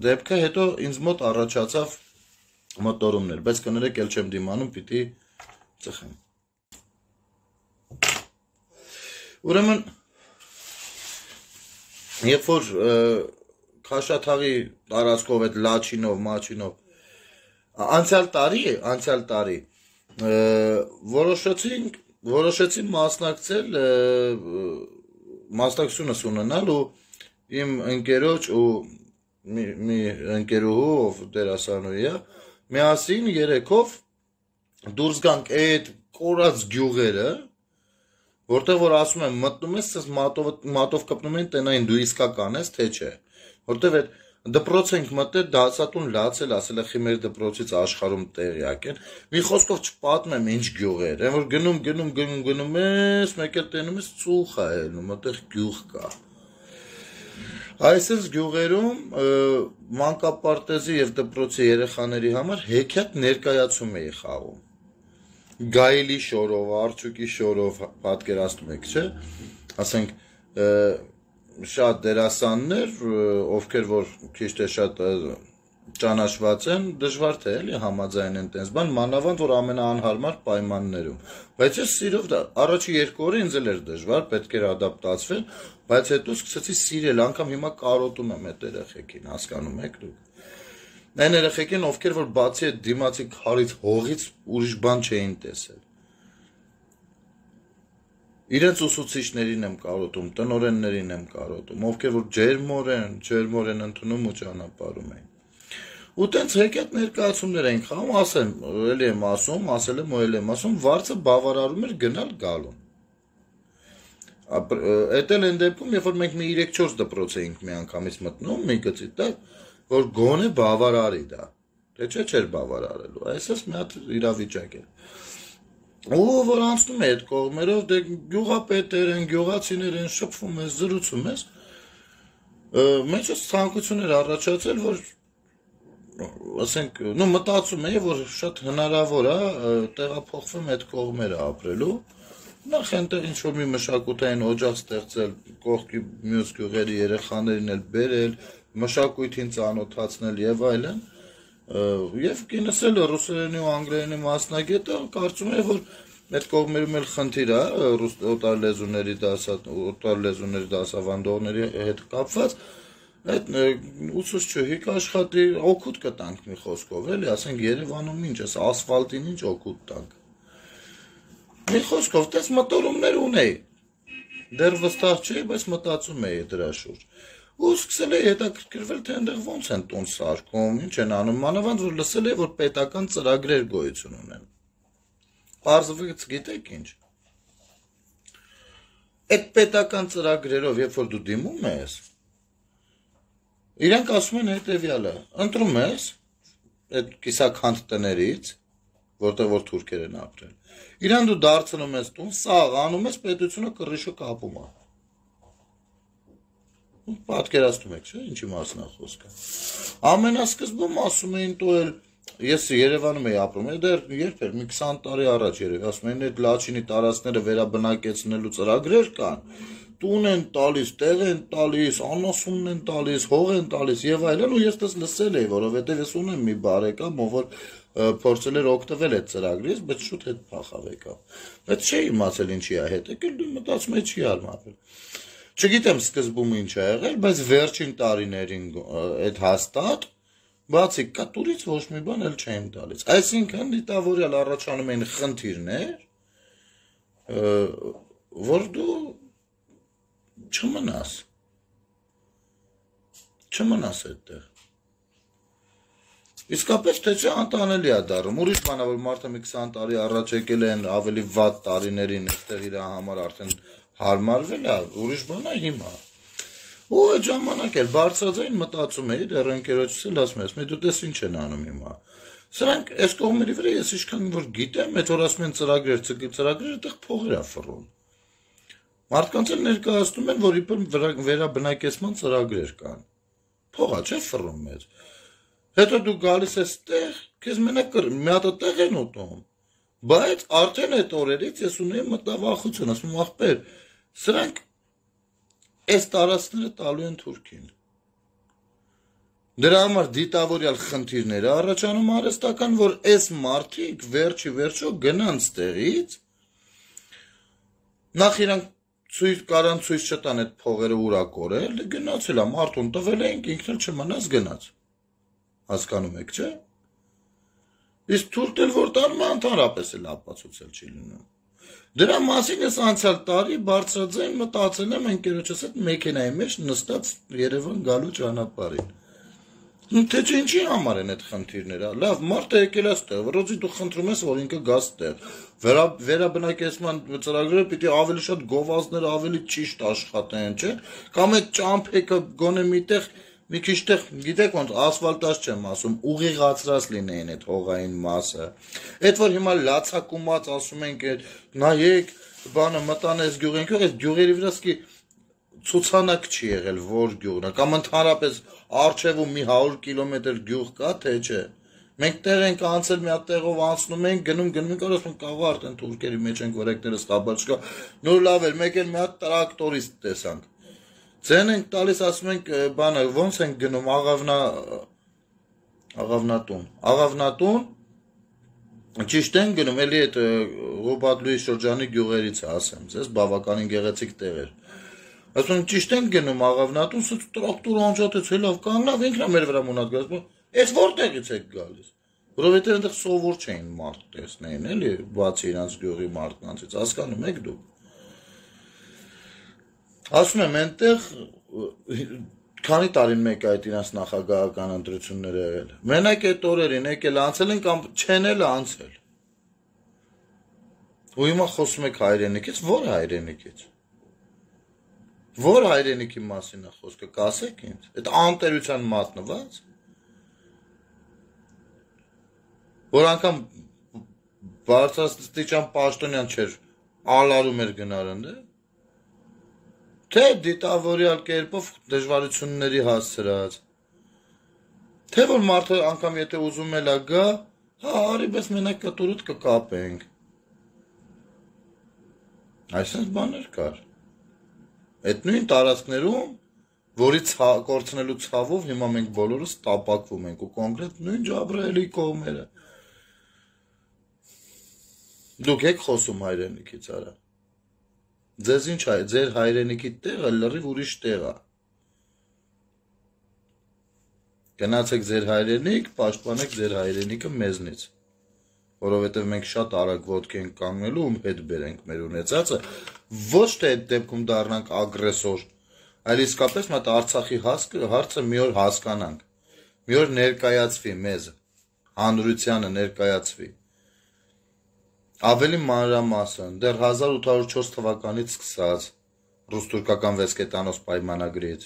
դեպքը, հետո ինձ մոտ առաջացավ մոտորումներ, բայց կներեք էլ չեմ դիմանում, պիտի ծխեմ։ Ուրեմն երբ որ Քաշաթաղի տարածքով այդ Լաչինով, Մաչինով անցյալ տարի, անցյալ տարի որոշեցինք, որոշեցին մասնակցել մասնակցությունս ունենալ ու իմ ընկերոջ ու մի, մի ընկերուհու, ով դերասանուհի է, միասին երեքով դուրս գանք այդ կորած գյուղերը, որտեղ որ ասում եմ մտնում ես, մատով, մատով կպնում են տնային դու իսկական ես, թե չէ, որտեղ այդ դպրոց ենք մտել, դասատուն լացել, ասել է խիմեր դպրոցից աշխարհում տեղյակ են, մի խոսքով չպատմեմ ինչ գյուղեր, այն որ գնում, գնում, գնում, գնում ես, մեկ էլ տենում ես ծուխ է ելնում, այդտեղ գյուղ կա։ Այսպես գյուղերում մանկապարտեզի եւ դպրոցի երեխաների համար հեքիաթ ներկայացում էի խաղում։ Գայելի շորով, Արչուկի շորով պատկերացնում եք, չէ՞։ Ասենք շատ դերասաններ, ովքեր որ քիչ թե շատ ճանաչված են, դժվար թե էլի համաձայնեն տես բան, մանավանդ որ ամենաանհարմար պայմաններում։ Բայց ես սիրով դա առաջի երկու օրը ինձ էլ էր դժվար, պետք էր ադապտացվել, բայց հետո սկսեցի սիրել, անգամ հիմա կարոտում եմ այդ երեխեքին, հասկանում եք դուք։ Այն երեխեքին, ովքեր որ բացի այդ դիմացի քարից հողից ուրիշ բան չէին տեսել։ Իրենց ուսուցիչներին եմ կարոտում, տնօրեններին եմ կարոտում, ովքեր որ ջերմորեն, ջերմորեն ընդունում ու ճանապարհում էին։ Ու տենց հեքիաթ ներկայացումներ էին խաղում, ասեմ, էլի եմ ասում, ասել եմ ու էլի եմ ասում, վարձը բավարարում էր գնալ գալուն։ Էդ էլ այն դեպքում, երբ որ մենք մի երեք-չորս դպրոց էինք մի անգամից մտնում, մի գծի տակ, որ գոնե բավարարի դա, թե չէ չէր բավարարելու, այսպես մի հատ իրավիճակ էր։ Ու որ անցնում է այդ կողմերով, դե գյուղապետեր են, գյուղացիներ են, շփվում ես, զրուցում ես, մեջս ցանկություն էր առաջացել, որ ասենք, նո մտածում էի, որ շատ հնարավոր է տեղափոխվեմ այդ կողմերը ապրելու, նախ այնտեղ ինչ-որ մի մշակութային օջախ ստեղծել, կողքի մյուս գյուղերի երեխաներին էլ բերել, մշակույթին ծանոթացնել եւ այլն, եւ կինս էլ ռուսերենի ու անգլերենի մասնագետ է, կարծում եմ, որ այդ կողմերում էլ խնդիր է օտար լեզուների օտար լեզուների դասավանդողների հետ կապված, այդ ուսուցչուհի կաշխատի, օգուտ կտանք մի խոսքով, էլի, ասենք Երևանում ինչ է, ասֆալտին ինչ օգուտ տանք։ Մի խոսքով, տես մտորումներ ունեի, դեռ վստահ չէի, բայց մտածում էի դրա շուրջ։ Ու սկսել էի հետաքրքրվել, թե այնտեղ ոնց են տուն սարքում, ինչ են անում, մանավանդ որ լսել էի, որ պետական ծրագրեր գոյություն ունեն։ Պարզվեց գիտեք ինչ։ Այդ պետական ծրագրերով, երբ որ դու դիմում ես, իրանք ասում են հետևյալը, ընտրում ես այդ կիսաքանդ տներից, որտեղ որ թուրքեր են ապրել։ Իրան դու դարձնում ես տուն, սաղ անում ես, պետությունը կռիչը կապում է։ Պատկերացնում եք, չէ՞, ինչի մասն է խոսքը։ Ամենասկզբում ասում էին տո էլ ես Երևանում էի ապրում, դեռ երբ էր, մի քսան տարի առաջ երևի, ասում էին այդ Լաչինի տարածքները վերաբնակեցնելու ծրագրեր կան, տուն են տալիս, տեղ են տալիս, անասունն են տալիս, հող են տալիս եւ այլն, ու ես դες լսել էի, որովհետեւ ես ունեմ մի բարեկամ, ով որ փորձել էր օգտվել այդ ծրագրից, բայց շուտ հետ փախավ եկավ։ Բայց չէի իմացել ինչի է հետ եկել, դու մտածում ես չի արմատվել։ Չգիտեմ սկզբում ինչ է եղել, բայց վերջին տարիներին այդ հաստատ բացի կատուրից ոչ մի բան էլ չեմ տալիս։ Այսինքն դիտավորյալ առաջանում են խնդիրներ, որ դու չմնաս։ չմնաս այդտեղ։ Իսկապես թե չէ անտանելի է դառնում։ Ուրիշ բան է, որ մարդը մի քսան տարի առաջ եկել են ավելի վատ տարիներին, այդտեղ իր համար արդեն հարմարվել է, ուրիշ բան է հիմա։ Ու այդ ժամանակ էլ բարձրաձայն մտածում էի, դեռ ընկերոջս էլ ասում ես, դու տես ինչ են անում հիմա։ Սրանք այս կողմերի վրա ես ինչքան որ գիտեմ, այդ որ ասում են ծրագրեր, ծրագրերը այդտեղ փողեր է ֆռում։ Մարդկանց էլ ներկայացնում են, որ իբր վերաբնակեցման ծրագրեր կան։ Փողա չէ ֆռում մեզ։ Հետո դու գալիս ես տեղ, քեզ մենակ մի հատ տեղ են ուտում։ Բայց արդեն այդ օրերից ես ունեի մտավախություն, ասում եմ ախպեր, սրանք այս տարածքները տալու են Թուրքին։ Դրա համար դիտավորյալ խնդիրներ է առաջանում արհեստական, որ այս մարդիկ վերջի վերջո գնան ստեղից, նախ իրանք ցույց կարան ցույց չտան այդ փողերը ուրա կորել, գնացել է մարդուն տվել ենք, ինքն էլ չմնաց գնաց։ Հասկանում եք, չէ՞։ Իսկ թուրքն էլ որ տանում է ընդհանրապես էլ ապացուցել չի լինում։ Դրա մասին ես անցյալ տարի բարձրաձայն մտածել եմ ընկերոջս հետ մեքենայի մեջ նստած Երևան գալու ճանապարհին։ Թե չէ ինչի համար են այդ խնդիրները։ Լավ, մարդը եկել է ստեղ, որոց դու խնդրում ես, որ ինքը գա ստեղ։ Վերա վերաբնակեցման ծրագրերը պիտի ավելի շատ գովազդներ, ավելի ճիշտ աշխատեն, չէ՞։ Կամ այդ ճամփեքը գոնե միտեղ մի քիչ տեղ, գիտեք ոնց ասֆալտած չեմ ասում, ուղիղացրած լինեին այդ հողային մասը։ Այդ որ հիմա լացակումած ասում ենք, նայեք, բանը մտան այս գյուղենք, այս գյուղերի վրա սկի ցուցանակ չի եղել, որ գյուղն է, կամ ընդհանրապես առջևում մի հարյուր կիլոմետր գյուղ կա, թե չէ։ Մենք տեղ ենք անցել, մի հատ տեղով անցնում ենք, գնում, գնում ենք, ասում ենք, կաղա արդեն թուրքերի մեջ ենք, որ եկներս խաբար չկա։ Նոր լավ էր, մեկ էլ մի հատ տրակտորիստ տեսանք։ Ձեն ենք տալիս, ասում ենք, բանը, ոնց ենք գնում, աղավնա, աղավնատուն, աղավնատուն, ճիշտ են գնում, էլի այդ Ղուբատլուի շրջանի գյուղերից է, ասեմ, ձեզ բավականին գեղեցիկ տեղ էր։ Ասում ենք, ճիշտ ենք գնում, աղավնատուն, սուց տրակտոր անջատեց, հելավ կանգնավ, ինքն է մեր վրա մունատ գալիս, այս որտեղից եք գալիս, որովհետև այնտեղ սովոր չէին մարդ տեսնեին, էլի, բացի իրանց գյուղի մարդկանցից, հասկանում եք դուք։ Ասում եմ, այնտեղ քանի տարին մեկ այդ իրանց նախագահական ընտրությունները եղել։ Մենակ այդ օրերին եկել անցել են կամ չեն էլ անցել։ Ու հիմա խոսում եք հայրենիքից, ո՞ր հայրենիքից։ Ո՞ր հայրենիքի մասին է խոսքը, կասեք ինձ։ Այդ անտերության մատնված։ Որ անգամ բարձրաստիճան պաշտոնյան չէր, ալարում էր գնարնդը։ Թե դիտավորյալ կերպով դժվարությունների հասցրած, թե որ մարդը անգամ եթե ուզում էլ է գա, հա, արի պես մենակ կտուրուտ կկապենք։ Այսինքն բաներ կար։ Այդ նույն տարածքներում, որի կորցնելու ցավով հիմա մենք բոլորս տապակվում ենք ու կոնկրետ նույն Ջաբրայելի կողմերը։ Դուք եք խոսում հայրենիքից արա։ Ձեզ ինչ է, ձեր հայրենիքի տեղը լրիվ ուրիշ տեղ է։ Գնացեք ձեր հայրենիք, պաշտպանեք ձեր հայրենիքը մեզնից, որովհետև մենք շատ արագ ոտք ենք կանգնելու ու հետ բերենք մեր ունեցածը, ոչ թե այդ դեպքում դառնանք ագրեսոր, այլ իսկապես մատ Արցախի հարցը մի օր հասկանանք, մի օր ներկայացվի մեզ, հանրությանը ներկայացվի։ Ավելի մանրամասն, դեռ հազար ութ հարյուր չորս թվականից սկսած ռուս-թուրքական վեցկետանոց պայմանագրից։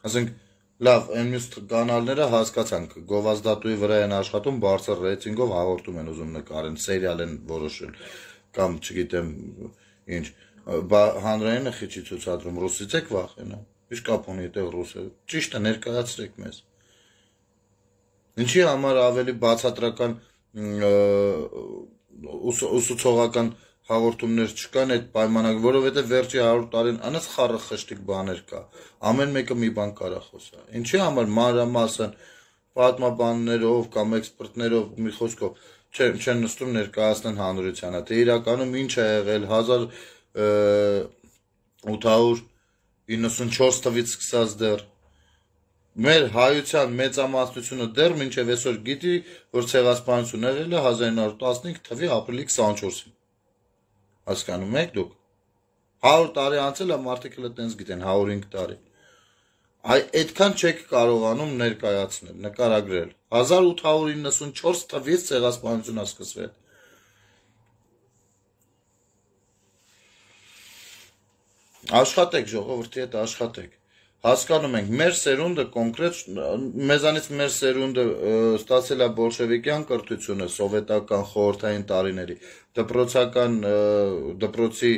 Ասենք, լավ, այն մյուս կանալները հասկացանք, գովազդատուի վրա են աշխատում, բարձր ռեյտինգով հաղորդում են ուզում նկարեն, սերիալ են որոշել, կամ չգիտեմ ինչ, հանրայինը խիչի ցուցադրում, ռուսից եք վախենա, ինչ կապ ունի այդտեղ ռուսը, ճիշտ է ներկայացրեք մեզ։ Ինչի համար ավելի բացատրական ուսուցողական հաղորդումներ չկան այդ պայմանագրի, որովհետև վերջի հարյուր տարին անց խառը խշտիկ բաներ կա, ամեն մեկը մի բան կարա խոսա։ Ինչի համար մանրամասն պատմաբաններով կամ էքսպերտներով մի խոսքով չեն նստում ներկայացնեն հանրությանը, թե իրականում ինչ է եղել հազար ութ հարյուր իննսունչորս թվականից սկսած դեռ մեր հայության մեծամասնությունը դեռ մինչև այսօր գիտի, որ ցեղասպանություն եղել է հազար ինը հարյուր տասնհինգ թվականի ապրիլի քսանչորսին։ Հասկանում եք դուք։ հարյուր տարի անցել է մարդիկ էլ այտենց գիտեն, հարյուր հինգ տարի։ Այ այդքան չեք կարողանում ներկայացնել, նկարագրել։ հազար ութ հարյուր իննսունչորս թվից ցեղասպանությունը սկսվել։ Աշխատեք ժողովրդի հետ աշխատեք։ Հասկանում ենք, մեր սերունդը կոնկրետ մեզանից մեր սերունդը ստացել է բոլշևիկյան կրթությունը սովետական խորհրդային տարիների, դպրոցական դպրոցի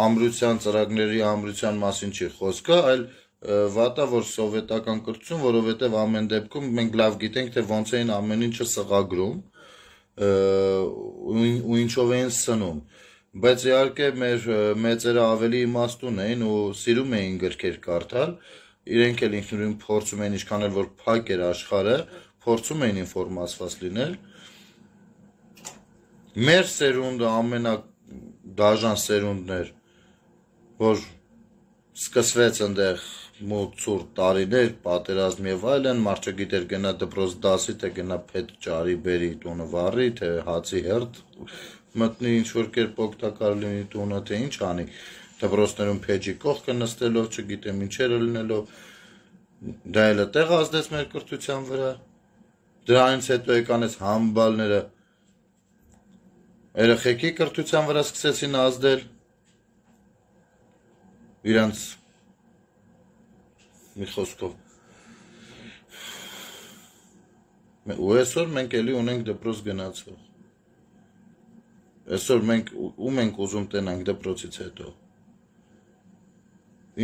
ամրության ծրագրերի ամրության մասին չի խոսքը, այլ վատա որ սովետական կրթություն, որովհետև ամեն դեպքում մենք լավ գիտենք, թե ոնց էին ամեն ինչը սղագրում ու ինչով էին սնում։ Բայց իհարկե մեր մեծերը ավելի իմաստուն էին ու սիրում էին գրքեր կարդալ, իրենք էլ ինքնուրույն փորձում էին ինչքան էլ որ փակ էր աշխարհը, փորձում էին ինֆորմացված լինել։ Մեր սերունդը ամենադաժան սերունդն էր, որ սկսվեց այնտեղ մոտ ցուրտ տարիներ, պատերազմ եւ այլն, մարդը գիտեր գնա դպրոց դասի, թե գնա փետ ճարի բերի տունը վառի, թե հացի հերթ մտնի ինչ որ կերպ օգտակար լինի տունը, թե ինչ անի, դպրոցներում փեջի կողքը նստելով, չգիտեմ ինչերը լինելով, դա էլ տեղ ազդեց մեր կրթության վրա, դրանից հետո եկան այս համբալները, երեխեքի կրթության վրա սկսեցին ազդել, իրանց մի խոսքով, ու այսօր մենք էլի ունենք դպրոց գնացող, այսօր մենք ում ենք ուզում տենանք դպրոցից հետո,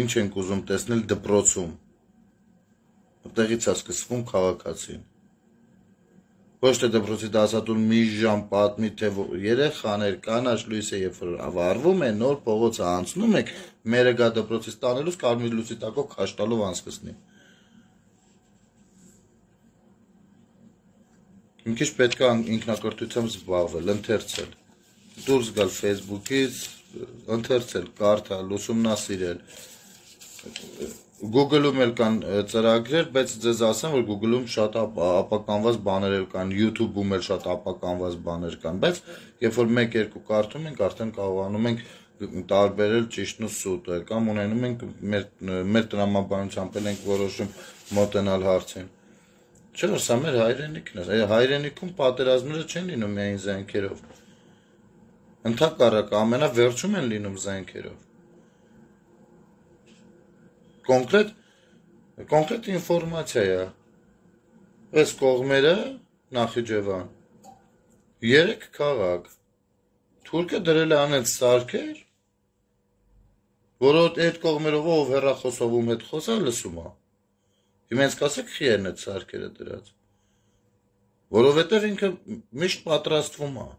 ինչ ենք ուզում տեսնել դպրոցում, տեղից է սկսվում քաղաքացին, ոչ թե դպրոցի դասատուն մի ժամ պատմի, թե երեխաներ կանաչ լույսը երբ որ վառվում է, նոր փողոցը անցնում եք, մերը գա դպրոցից տանելուց կարմիր լույսի տակով քաշտալով անցկացնի։ Մի քիչ պետք է ինքնակրթությամբ զբաղվել, ընթերցել, դուրս գալ Facebook-ից, ընթերցել, կարդալ, ուսումնասիրել։ Google-ում էլ կան ծրագրեր, բայց ձեզ ասեմ, որ Google-ում շատ ապականված բաներ էլ կան, YouTube-ում էլ շատ ապականված բաներ կան, բայց երբ որ մեկ-երկու կարդում ենք, արդեն կարողանում ենք տարբերել ճիշտն ու սուտը, կամ ունենում ենք մեր մեր տրամաբանությամբ էլ ենք որոշում մոտենալ հարցին։ Չէ՞ որ սա մեր հայրենիքն է, հայրենիքում պատերազմները չեն լինում միայն զենքերով։ Ընդհակառակը ամենավերջում են լինում զենքերով։ Կոնկրետ կոնկրետ ինֆորմացիա է։ Այս կողմերը Նախիջևան երեք քաղաք թուրքը դրել է անենց սարքեր, որոդ այդ կողմերով ով հեռախոսով հետ խոսա լսում է։ Հիմա ինձ կասեք խի են այդ սարքերը դրած։ Որովհետև ինքը միշտ պատրաստվում է։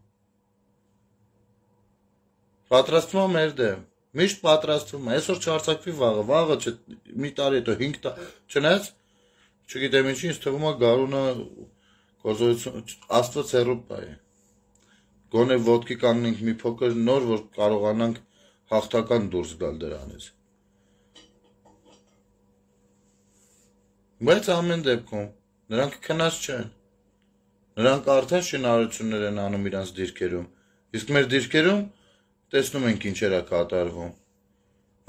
Պատրաստվում է մեր դեմ։ Միշտ պատրաստվում է, այսօր չարցակվի վաղը, վաղը չէ, մի տարի հետո հինգ տարի, չնայած, չգիտեմ ինչի, ինձ թվում է գարունը գործողություն, Աստված հեռու է։ Գոնե ոտքի կանգնենք մի փոքր նոր, որ կարողանանք հաղթական դուրս գալ դրանից։ Բայց ամեն դեպքում նրանք քնած չեն։ Նրանք արդեն շինարարություններ են անում իրանց դիրքերում։ Իսկ մեր դիրքերում տեսնում ենք ինչեր է կատարվում։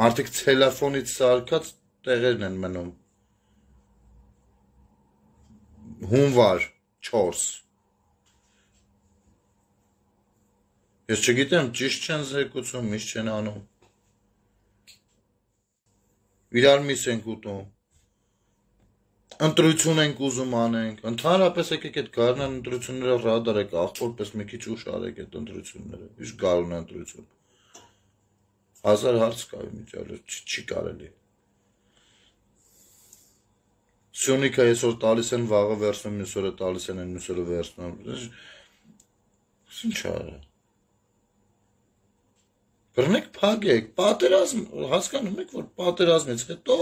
Մարդիկ ցելոֆոնից սարքած տեղերն են մնում։ Հունվար չորս։ Ես չգիտեմ, ճիշտ չեն զեկուցում, միշտ չեն անում։ Իրար միս ենք ուտում։ Ընտրություն ենք ուզում անենք։ Ընդհանրապես եկեք այդ գարնան ընտրությունները ռադար եք, աղբորպես մի քիչ ուշ արեք այդ ընտրությունները։ Ինչ գարուն ընտրություն։ Հազար հարց կա միջալը, չի կարելի։ Սյունիքը այսօր տալիս են, վաղը վերցնում, մյուս օրը տալիս են, մյուս օրը վերցնում։ Ինչ արա։ Բռնեք փագեք, պատերազմ, հասկանում եք, որ պատերազմից հետո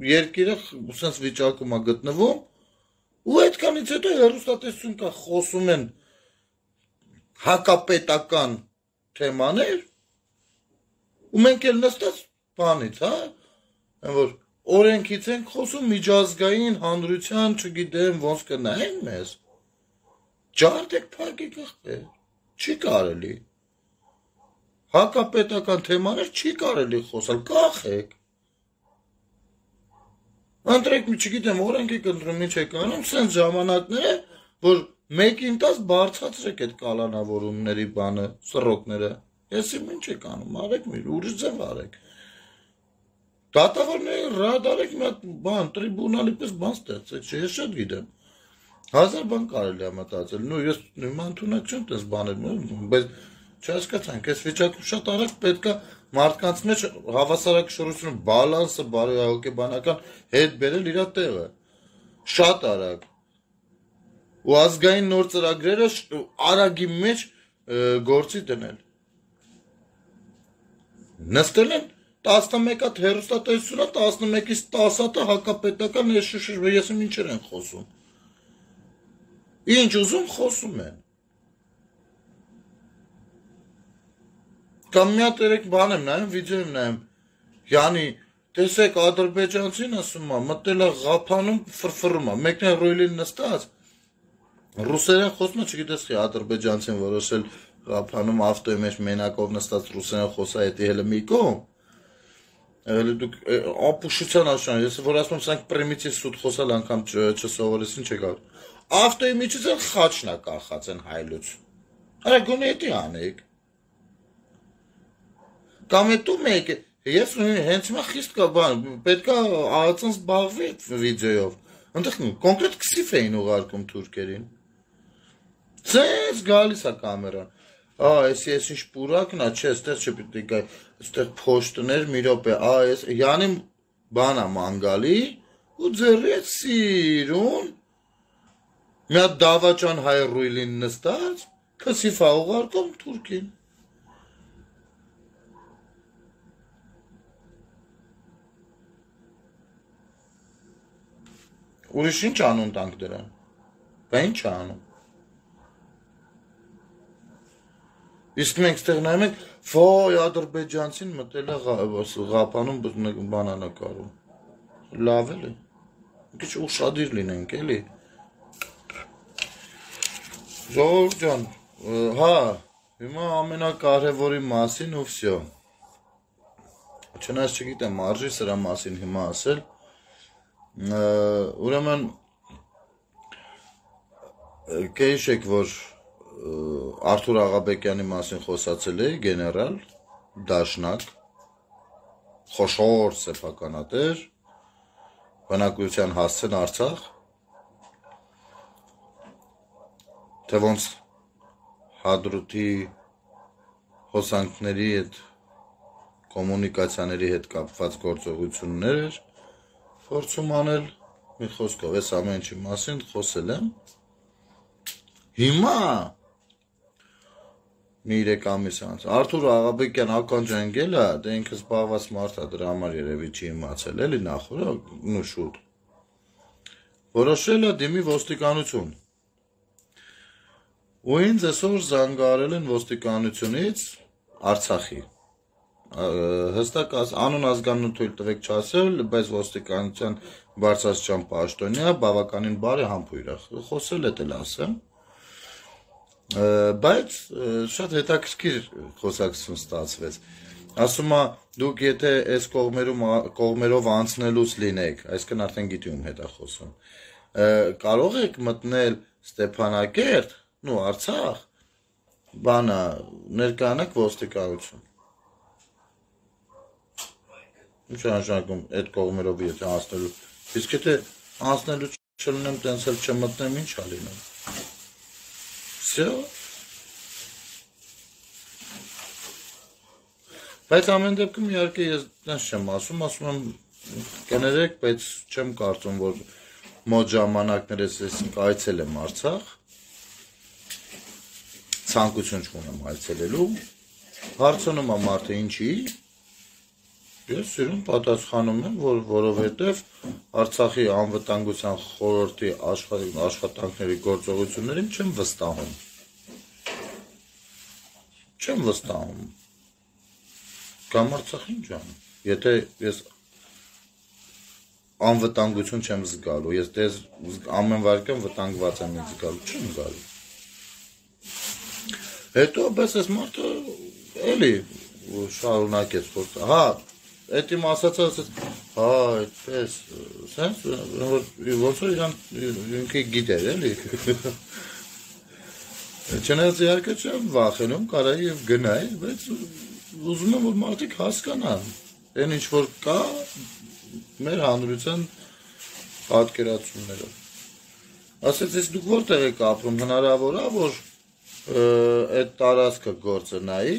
երկիրը սենց վիճակում է գտնվում, ու այդքանից հետո հեռուստատեսություն կա, խոսում են հակապետական թեմաներ, ու մենք էլ նստած բանից, հա, որ օրենքից ենք խոսում միջազգային հանրության, չգիտեմ, ոնց կնայեն մեզ, ջարդեք փագեք ախպեր, չի կարելի, հակապետական թեմաներ չի կարելի խոսալ, կախեք, Ընտրեք մի չգիտեմ օրենք եք ընտրում ինչ եք անում, սենց ժամանակները, որ մեկին տաս բարձրացրեք այդ կալանավորումների բանը, սռոկները։ Ես իմ ինչ եք անում, արեք մի ուրիշ ձև արեք։ Դատավորների ռադ արեք մի հատ բան, տրիբունալի պես բան ստեղծեք, չէ, ես շատ գիտեմ։ Հազար բան կարելի է մտածել, նու ես նման ընդունակ չեմ տես բաներ, բայց չհասկացանք, այս վիճակում շատ արագ պետք է մարդկանց մեջ հավասարակշռությունը, բալանսը, բարոյահոգեբանական հետ բերել իր տեղը։ Շատ արագ։ Ու ազգային նոր ծրագրերը արագի մեջ գործի դնել։ Նստել են տասնմեկ հատ հեռուստատեսությունա, տասնմեկից տասը հատը հակապետական ես ինչեր են խոսում։ Ինչ ուզում խոսում են։ Կամ մի հատ երեք բան եմ նայում, վիդեո եմ նայում, յանի, տեսեք ադրբեջանցին ասում է, մտել է Ղափանում ֆրֆռում է, մեկն է ռոյլին նստած, ռուսերեն խոսում է, չգիտես խի ադրբեջանցին որոշել Ղափանում ավտոյի մեջ մենակով նստած ռուսերեն խոսա հետի հելը մի կողմ, դուք ապուշության աշան, ես որ ասում սրանք պրիմիտիվ սուտ խոսալ անգամ չսովորեցին չեկավ, ավտոյի միջից են խաչն է կախած են հայլուց, արա գոնե հետի անեք, կամ հետո մեկ է, ես հենց հիմա խիստ կա բան, պետք է ԱԱՑ-ն զբաղվի վիդեոյով, ընդեղ կոնկրետ քսիֆ էին ուղարկում թուրքերին, սենց գալիս է կամերան, ա, եսի ես ինչ պուրակն է, չէ, ստեղ չպիտի գայ, ստեղ փոշտներ մի րոպե, ա, ես յանի բան է մանգալի, ու ձեռի հետ սիրուն, մի հատ դավաճան հայ ռույլին նստած, քսիֆ է ուղարկում թուրքին։ Ուրիշ ինչ անուն տանք դրան, բա ինչ է անում։ Իսկ մենք ստեղ նայում ենք, վայ ադրբեջանցին մտել է Ղափանում բանանակարում, լավ էլ է, քիչ ուշադիր լինենք էլի։ Ժողովուրդ ջան, հա, հիմա ամենակարևորի մասին ու վсё։ Չնայած չգիտեմ արժի սրա մասին հիմա ասել, ուրեմն կհիշեք, որ Արթուր Աղաբեկյանի մասին խոսացել էի, գեներալ, դաշնակ, խոշոր սեփականատեր, բնակության հասցեն Արցախ, թե ոնց Հադրութի հոսանքների հետ, կոմունիկացիաների հետ կապված գործողություններ էր, փորձում անել, մի խոսքով, ես ամեն ինչի մասին խոսել եմ, հիմա մի երեք ամիս անց, Արթուր Աղաբեկյան ականջանգել է, դե ինքը զբաղված մարդ է, դրա համար երևի չի իմացել, էլի նախորդ, նու շուտ, որոշել է դիմի ոստիկանություն, ու ինձ այսօր զանգարել են ոստիկանությունից Արցախի, հստակ անուն ազգանուն թույլ տվեք չասել, բայց ոստիկանության բարձրաստիճան պաշտոնյա, բավականին բարի համբույր է, խոսել է դել ասեմ, բայց շատ հետաքրքիր խոսակցություն ստացվեց, ասում է դուք եթե այս կողմերով անցնելուց լինեք, այսքան արդեն գիտի ում հետ է խոսում, կարող եք մտնել Ստեփանակերտ, նու Արցախ, բանա ներկանաք ոստիկանություն, ինչ անշանակում այդ կողմերով եթե անցնելու, իսկ եթե անցնելու չլնեմ, տենց էլ չմտնեմ, ինչ ա լինում, վсё, բայց ամեն դեպքում իհարկե ես տենց չեմ ասում, ասում եմ կներեք, բայց չեմ կարծում, որ մոտ ժամանակներս ես այցել եմ Արցախ, ցանկություն չունեմ այցելելու, հարցնում է մարդը ինչի, ես սիրուն պատասխանում եմ, որ որովհետև Արցախի անվտանգության խորհրդի աշխատանքների գործողություններին չեմ վստահում, չեմ վստահում, կամ Արցախ ինչ անում, եթե ես անվտանգություն չեմ զգալու, ես դες ամեն վարկյան վտանգված եմ ինձ զգալու, չեմ զգալու, հետո բես ես մարդը էլի շարունակեց, հա, Էդի ասացա, ասաց, հա, այդպես, սենց, ոնց որ իրան ինքը գիտեր, էլի։ Չնայած իհարկե չեմ վախենում, կարայի եւ գնայի, բայց ուզում եմ որ մարդիկ հասկանան, այն ինչ որ կա մեր հանրության պատկերացումներով։ Ասեց, ես դուք որտեղ եք ապրում, հնարավոր է, որ այդ տարածքը գործնայի։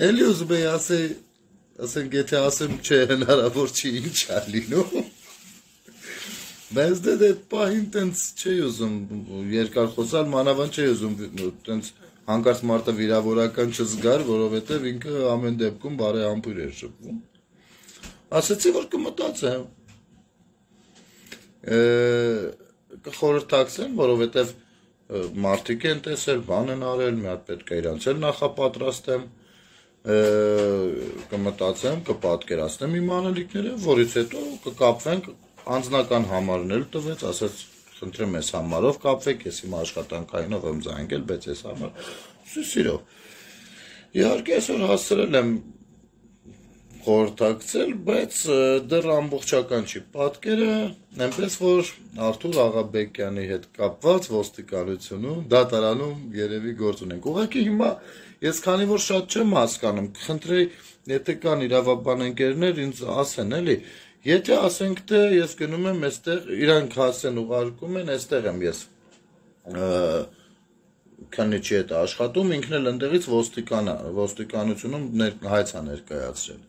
Էլի ուզում էի ասեի, ասենք եթե ասեմ չէ հնարավոր չի ինչ է լինում։ Բայց դե այդ պահին տենց չի ուզում երկար խոսալ, մանավանդ չի ուզում տենց հանկարծ մարդը վիրավորական չզգար, որովհետև ինքը ամեն դեպքում բարեհամբույր էր շփվում։ Ասեցի, որ կմտածեմ։ Կխորհրդակցեմ, որովհետև մարդիկ են տեսել, բան են արել, մի հատ պետք է իրանց էլ նախապատրաստեմ, կմտածեմ, կպատկերացնեմ իմ անելիքները, որից հետո կկապվենք, անձնական համարն էլ տվեց, ասաց, խնդրեմ ես համարով կապվեք, ես իմ աշխատանքայինով եմ զանգել, բայց ես համար սիրով։ Իհարկե այսօր հասցրել եմ խորհրդակցել, բայց դեռ ամբողջական չի պատկերը, այնպես որ Արթուր Աղաբեկյանի հետ կապված ոստիկանությունում, դատարանում երևի գործ ունենք։ Ուղղակի հիմա ես քանի որ շատ չեմ հասկանում, կխնդրեի, եթե կան իրավաբան ընկերներ, ինձ ասեն, էլի, եթե ասենք թե ես գնում եմ այստեղ, իրանք հասեն ուղարկում են, այստեղ եմ ես քանիչի հետ աշխատում, ինքն էլ ընդեղից ոստիկանությունում հայց է ներկայացրել։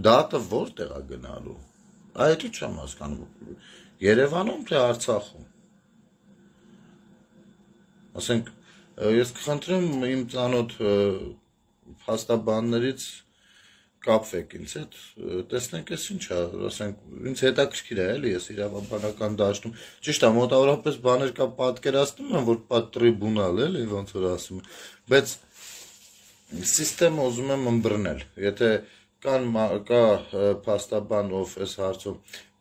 Դատը որտեղ է գնալու։ Այդ չեմ հասկանում։ Երևանում թե Արցախում։ Ասենք ես կխնդրեմ իմ ծանոթ փաստաբաններից կապվեք ինձ հետ, տեսնենք ես ինչ է, ասենք ինձ հետաքրքիր է, էլի ես իրավաբանական դաշտում։ Ճիշտ է, մոտավորապես բաներ կա պատկերացնում եմ, որ պատրիբունալ էլի ոնց որ ասում եմ, բայց սիստեմը ուզում եմ ըմբռնել։ Եթե կան կա փաստաբան, ով այս հարցում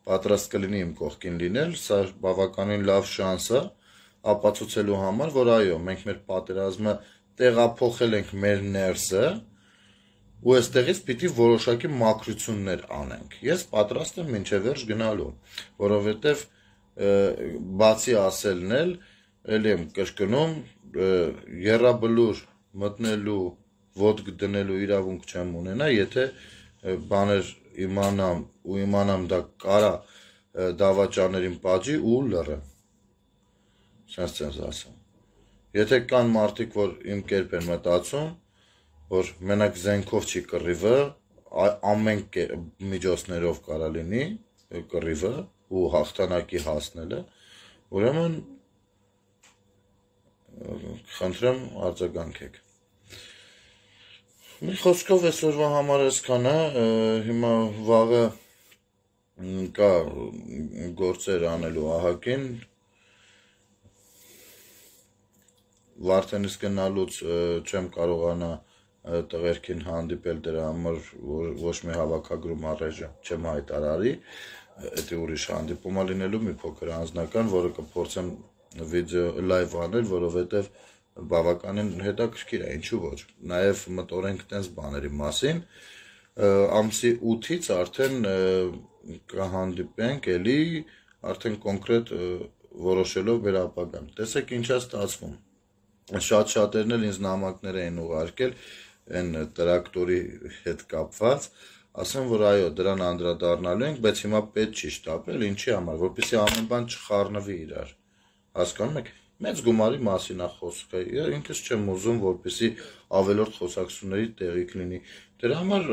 պատրաստ կլինի իմ կողքին լինել, սա բավականին լավ շանս է ապացուցելու համար, որ այո, մենք մեր պատերազմը տեղափոխել ենք մեր ներսը, ու այստեղից պիտի որոշակի մաքրություններ անենք։ Ես պատրաստ եմ մինչև վերջ գնալու, որովհետև բացի ասելն էլ, էլի եմ կրկնում, եռաբլուր մտնելու, ոտք դնելու իրավունք չեմ ունենա, եթե բաներ իմանամ ու իմանամ դա կարա դավաճաներին պատժի ու լռեմ։ Սենց ցենց ասեմ։ Եթե կան մարդիկ, որ իմ կերպ են մտածում, որ մենակ զենքով չի կռիվը, ամեն միջոցներով կարա լինի կռիվը ու հաղթանակի հասնելը, ուրեմն խնդրեմ արձագանքեք։ Մի խոսքով այսօրվա համար այսքան է, հիմա վաղը կա գործեր անելու ահագին, Վարդենից գնալուց չեմ կարողանա տղերքին հանդիպել դրա համար ոչ մի հավաքագրում առայժմ չեմ հայտարարի, դա ուրիշ հանդիպում է լինելու մի փոքր անձնական, որը կփորձեմ վիդեո լայվ անել, որովհետև բավականին հետաքրքիր է, ինչու ոչ։ Նաև մտորենք տենց բաների մասին, ամսի ութից արդեն կհանդիպենք էլի, արդեն կոնկրետ որոշելով մեր ապագան։ Տեսեք ինչ է ստացվում։ Շատ շատերն էլ ինձ նամակներ էին ուղարկել այն տրակտորի հետ կապված, ասեմ, որ այո, դրան անդրադառնալու ենք, բայց հիմա պետք չի շտապել, ինչի համար, որպեսզի ամեն բան չխառնվի իրար։ Հասկանում եք, մեծ գումարի մասին է խոսքը, ինքս չեմ ուզում, որպեսզի ավելորդ խոսակցությունների տեղիք լինի։ Դրա համար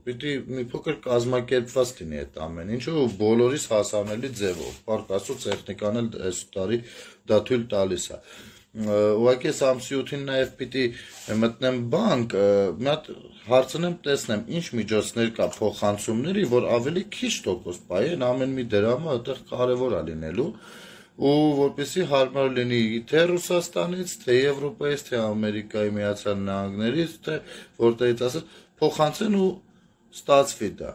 պիտի մի փոքր կազմակերպված լինի այդ ամեն ինչը ու բոլորիս հասանելի ձևով։ Փառք Աստծո, տեխնիկան էլ այս տարի դա թույլ տալիս է։ Ուղղակի այս ամսի ութին նաև պիտի մտնեմ բանկ, մի հատ հարցնեմ, տեսնեմ ինչ միջոցներ կա փոխանցումների, որ ավելի քիչ տոկոս պահեն, ամեն մի դրամը այդտեղ կարևոր է լինելու ու որպեսզի հարմար լինի թե Ռուսաստանից, թե Եվրոպայից, թե Ամերիկայի Միացյալ Նահանգներից, թե որտեղից ասած փոխանցեն ու ստացվի դա։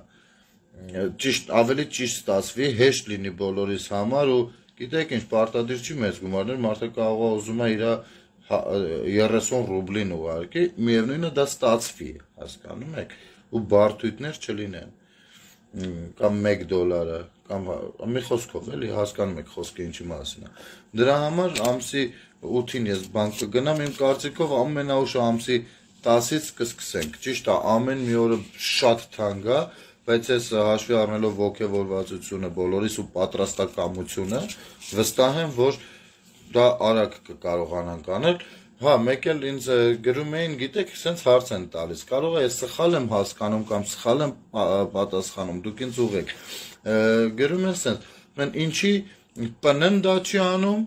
Ճիշտ, ավելի ճիշտ ստացվի, հեշտ լինի բոլորիս համար ու գիտեք ինչ, պարտադիր չի մեծ գումարներ, մարդը կարող է ուզում է իր երեսուն ռուբլին ուղարկի, միևնույնը դա ստացվի, հասկանում եք, ու բարդույթներ չլինեն, կամ մեկ դոլարը, կամ մի խոսքով էլի, հասկանում եք խոսքը ինչի մասին է։ Դրա համար ամսի ութին ես բանկ կգնամ, իմ կարծիքով ամենաուշը ամսի տասից կսկսենք, ճիշտ է, ամեն մի օրը շատ թանկ է, բայց ես հաշվի առնելով ոգևորվածությունը բոլորիս ու պատրաստակամությունը, վստահ եմ, որ դա արագ կկարողանանք անել, հա, մեկ էլ ինձ գրում էին, գիտեք, սենց հարց են տալիս, կարող է ես սխալ եմ հասկանում կամ սխալ եմ պատասխանում, դուք ինձ ուղեք, գրում են սենց, մեն ինչի պնն դա չի անում,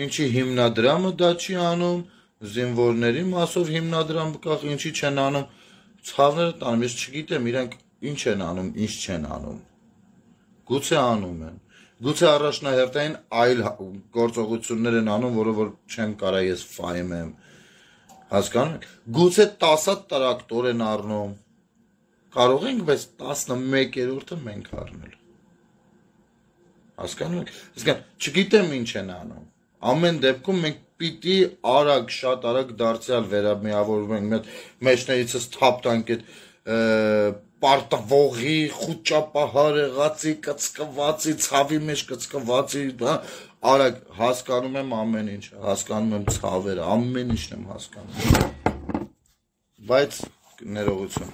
ինչի հիմնադրամը դա չի անում, զինվորների մասով հիմնադրամ կախ, ինչի չեն անում, ցավները տանում, ես չգիտեմ, իրանք ինչ են անում, ինչ չեն անում, գուցե անում են, գուցե առաջնահերթային այլ գործողություններ են անում, որը որ չեմ կարա ես ֆայմեմ, հասկանում եք, գուցե տասատ տրակտոր են առնում, կարող ենք, բայց տասնմեկերորդը մենք առնել, հասկանում եք, չգիտեմ ինչ են անում, ամեն դեպքում մենք պիտի արագ, շատ արագ դարձյալ վերամիավորում ենք, մեջներիցս թափ տանք այդ պարտվողի, խուճապահար եղածի, կծկվածի, ցավի մեջ կծկվածի, արագ հասկանում եմ ամեն ինչ, հասկանում եմ ցավերը, ամեն ինչն եմ հասկանում, բայց ներողություն,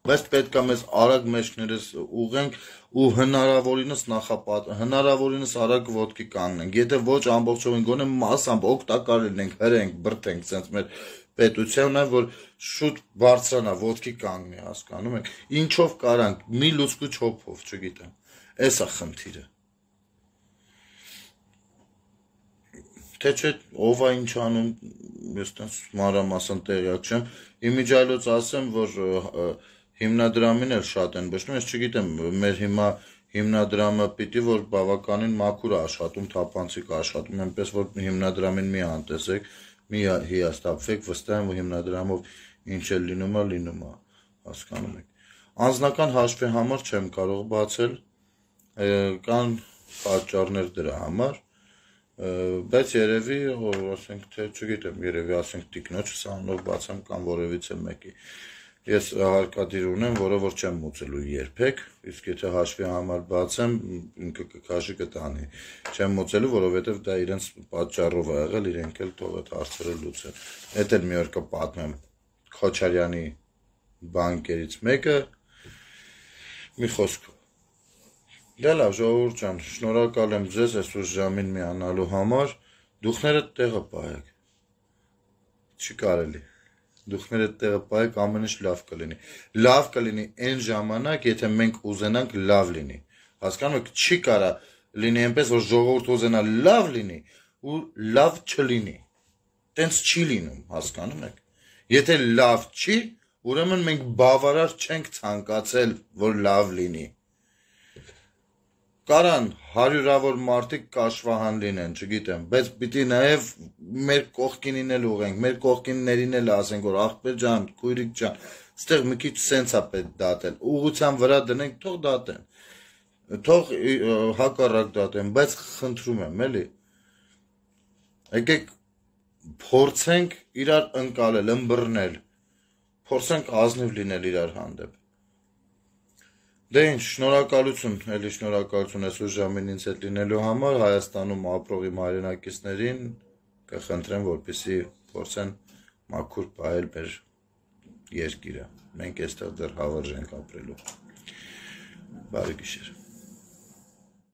բայց պետք է մեզ արագ մեջներս ուղենք ու հնարավորինս նախապատ, հնարավորինս արագ ոտքի կանգնենք, եթե ոչ ամբողջովին գոնե մասամբ օգտակար լինենք, հրենք, բրդենք, սենց մեր պետությունը, որ շուտ բարձրանա, ոտքի կանգնի, հասկանում եք, ինչով կարանք, մի լուցկու չոփով, չգիտեմ, էս է խնդիրը, թե չէ, ով է ինչ անում, ես տենց մանրամասն տեղյակ չեմ, իմիջիայլոց ասեմ, որ հիմնադրամին էլ շատ են բշնում, ես չգիտեմ, մեր հիմա հիմնադրամը պիտի, որ բավականին մաքուր աշխատում, թափանցիկ աշխատում, այնպես, որ հիմնադրամին մի անտեսեք, մի հիաստապվեք, վստահ եմ, որ հիմնադրամով ինչ էլ լինում է, լինում է, հասկանում եք։ Անձնական հաշվի համար չեմ կարող բացել, կան պատճառներ դրա համար, բայց երևի, ասենք, թե չգիտեմ, երևի ասենք տիկնոջս անունով բացեմ կամ որևիցե մեկի։ Ես հարկադիր ունեմ, որը որ չեմ մուծելու երբեք, իսկ եթե հաշվի համար բացեմ, ինքը կքաշի կտանի, չեմ մուծելու, որովհետև դա իրենց պատճառով է եղել, իրենք էլ թող այդ հարցերը լուծեն։ Էդ էլ մի օր կպատմեմ Քոչարյանի բանկերից մեկը, մի խոսքով։ Դե լավ, ժողովուրդ ջան, շնորհակալ եմ ձեզ այսօր ժամին միանալու համար, դուխները տեղը պահեք, չի կարելի։ Դուխները տեղը պահեք, ամեն ինչ լավ կլինի։ Լավ կլինի այն ժամանակ, եթե մենք ուզենանք լավ լինի։ Հասկանում եք, չի կարա լինի այնպես, որ ժողովուրդ ուզենա լավ լինի ու լավ չլինի։ Տենց չի լինում, հասկանում եք։ Եթե լավ չի, ուրեմն մենք բավարար չենք ցանկացել, որ լավ լինի։ Կարան հարյուրավոր մարդիկ կաշվահան լինեն, չգիտեմ, բայց պիտի նաև մեր կողքինին էլ ուղենք, մեր կողքիններին էլ ասենք, որ աղբեր ջան, քույրիկ ջան, ստեղ մի քիչ սենց է պետք դատել, ուղղության վրա դնենք, թող դատեն, թող հակառակ դատեն, բայց խնդրում եմ, էլի, եկեք փորձենք իրար ընկալել, ըմբռնել, փորձենք ազնիվ լինել իրար հանդեպ։ Դե ինչ, շնորհակալություն, էլի շնորհակալություն այսօր ժամին ինձ հետ լինելու համար, Հայաստանում ապրող իմ հայրենակիցներին կխնդրեմ, որպեսզի փորձեն մաքուր պահել մեր երկիրը։ Մենք այստեղ դեռ հավերժ ենք ապրելու։ Բարի գիշեր։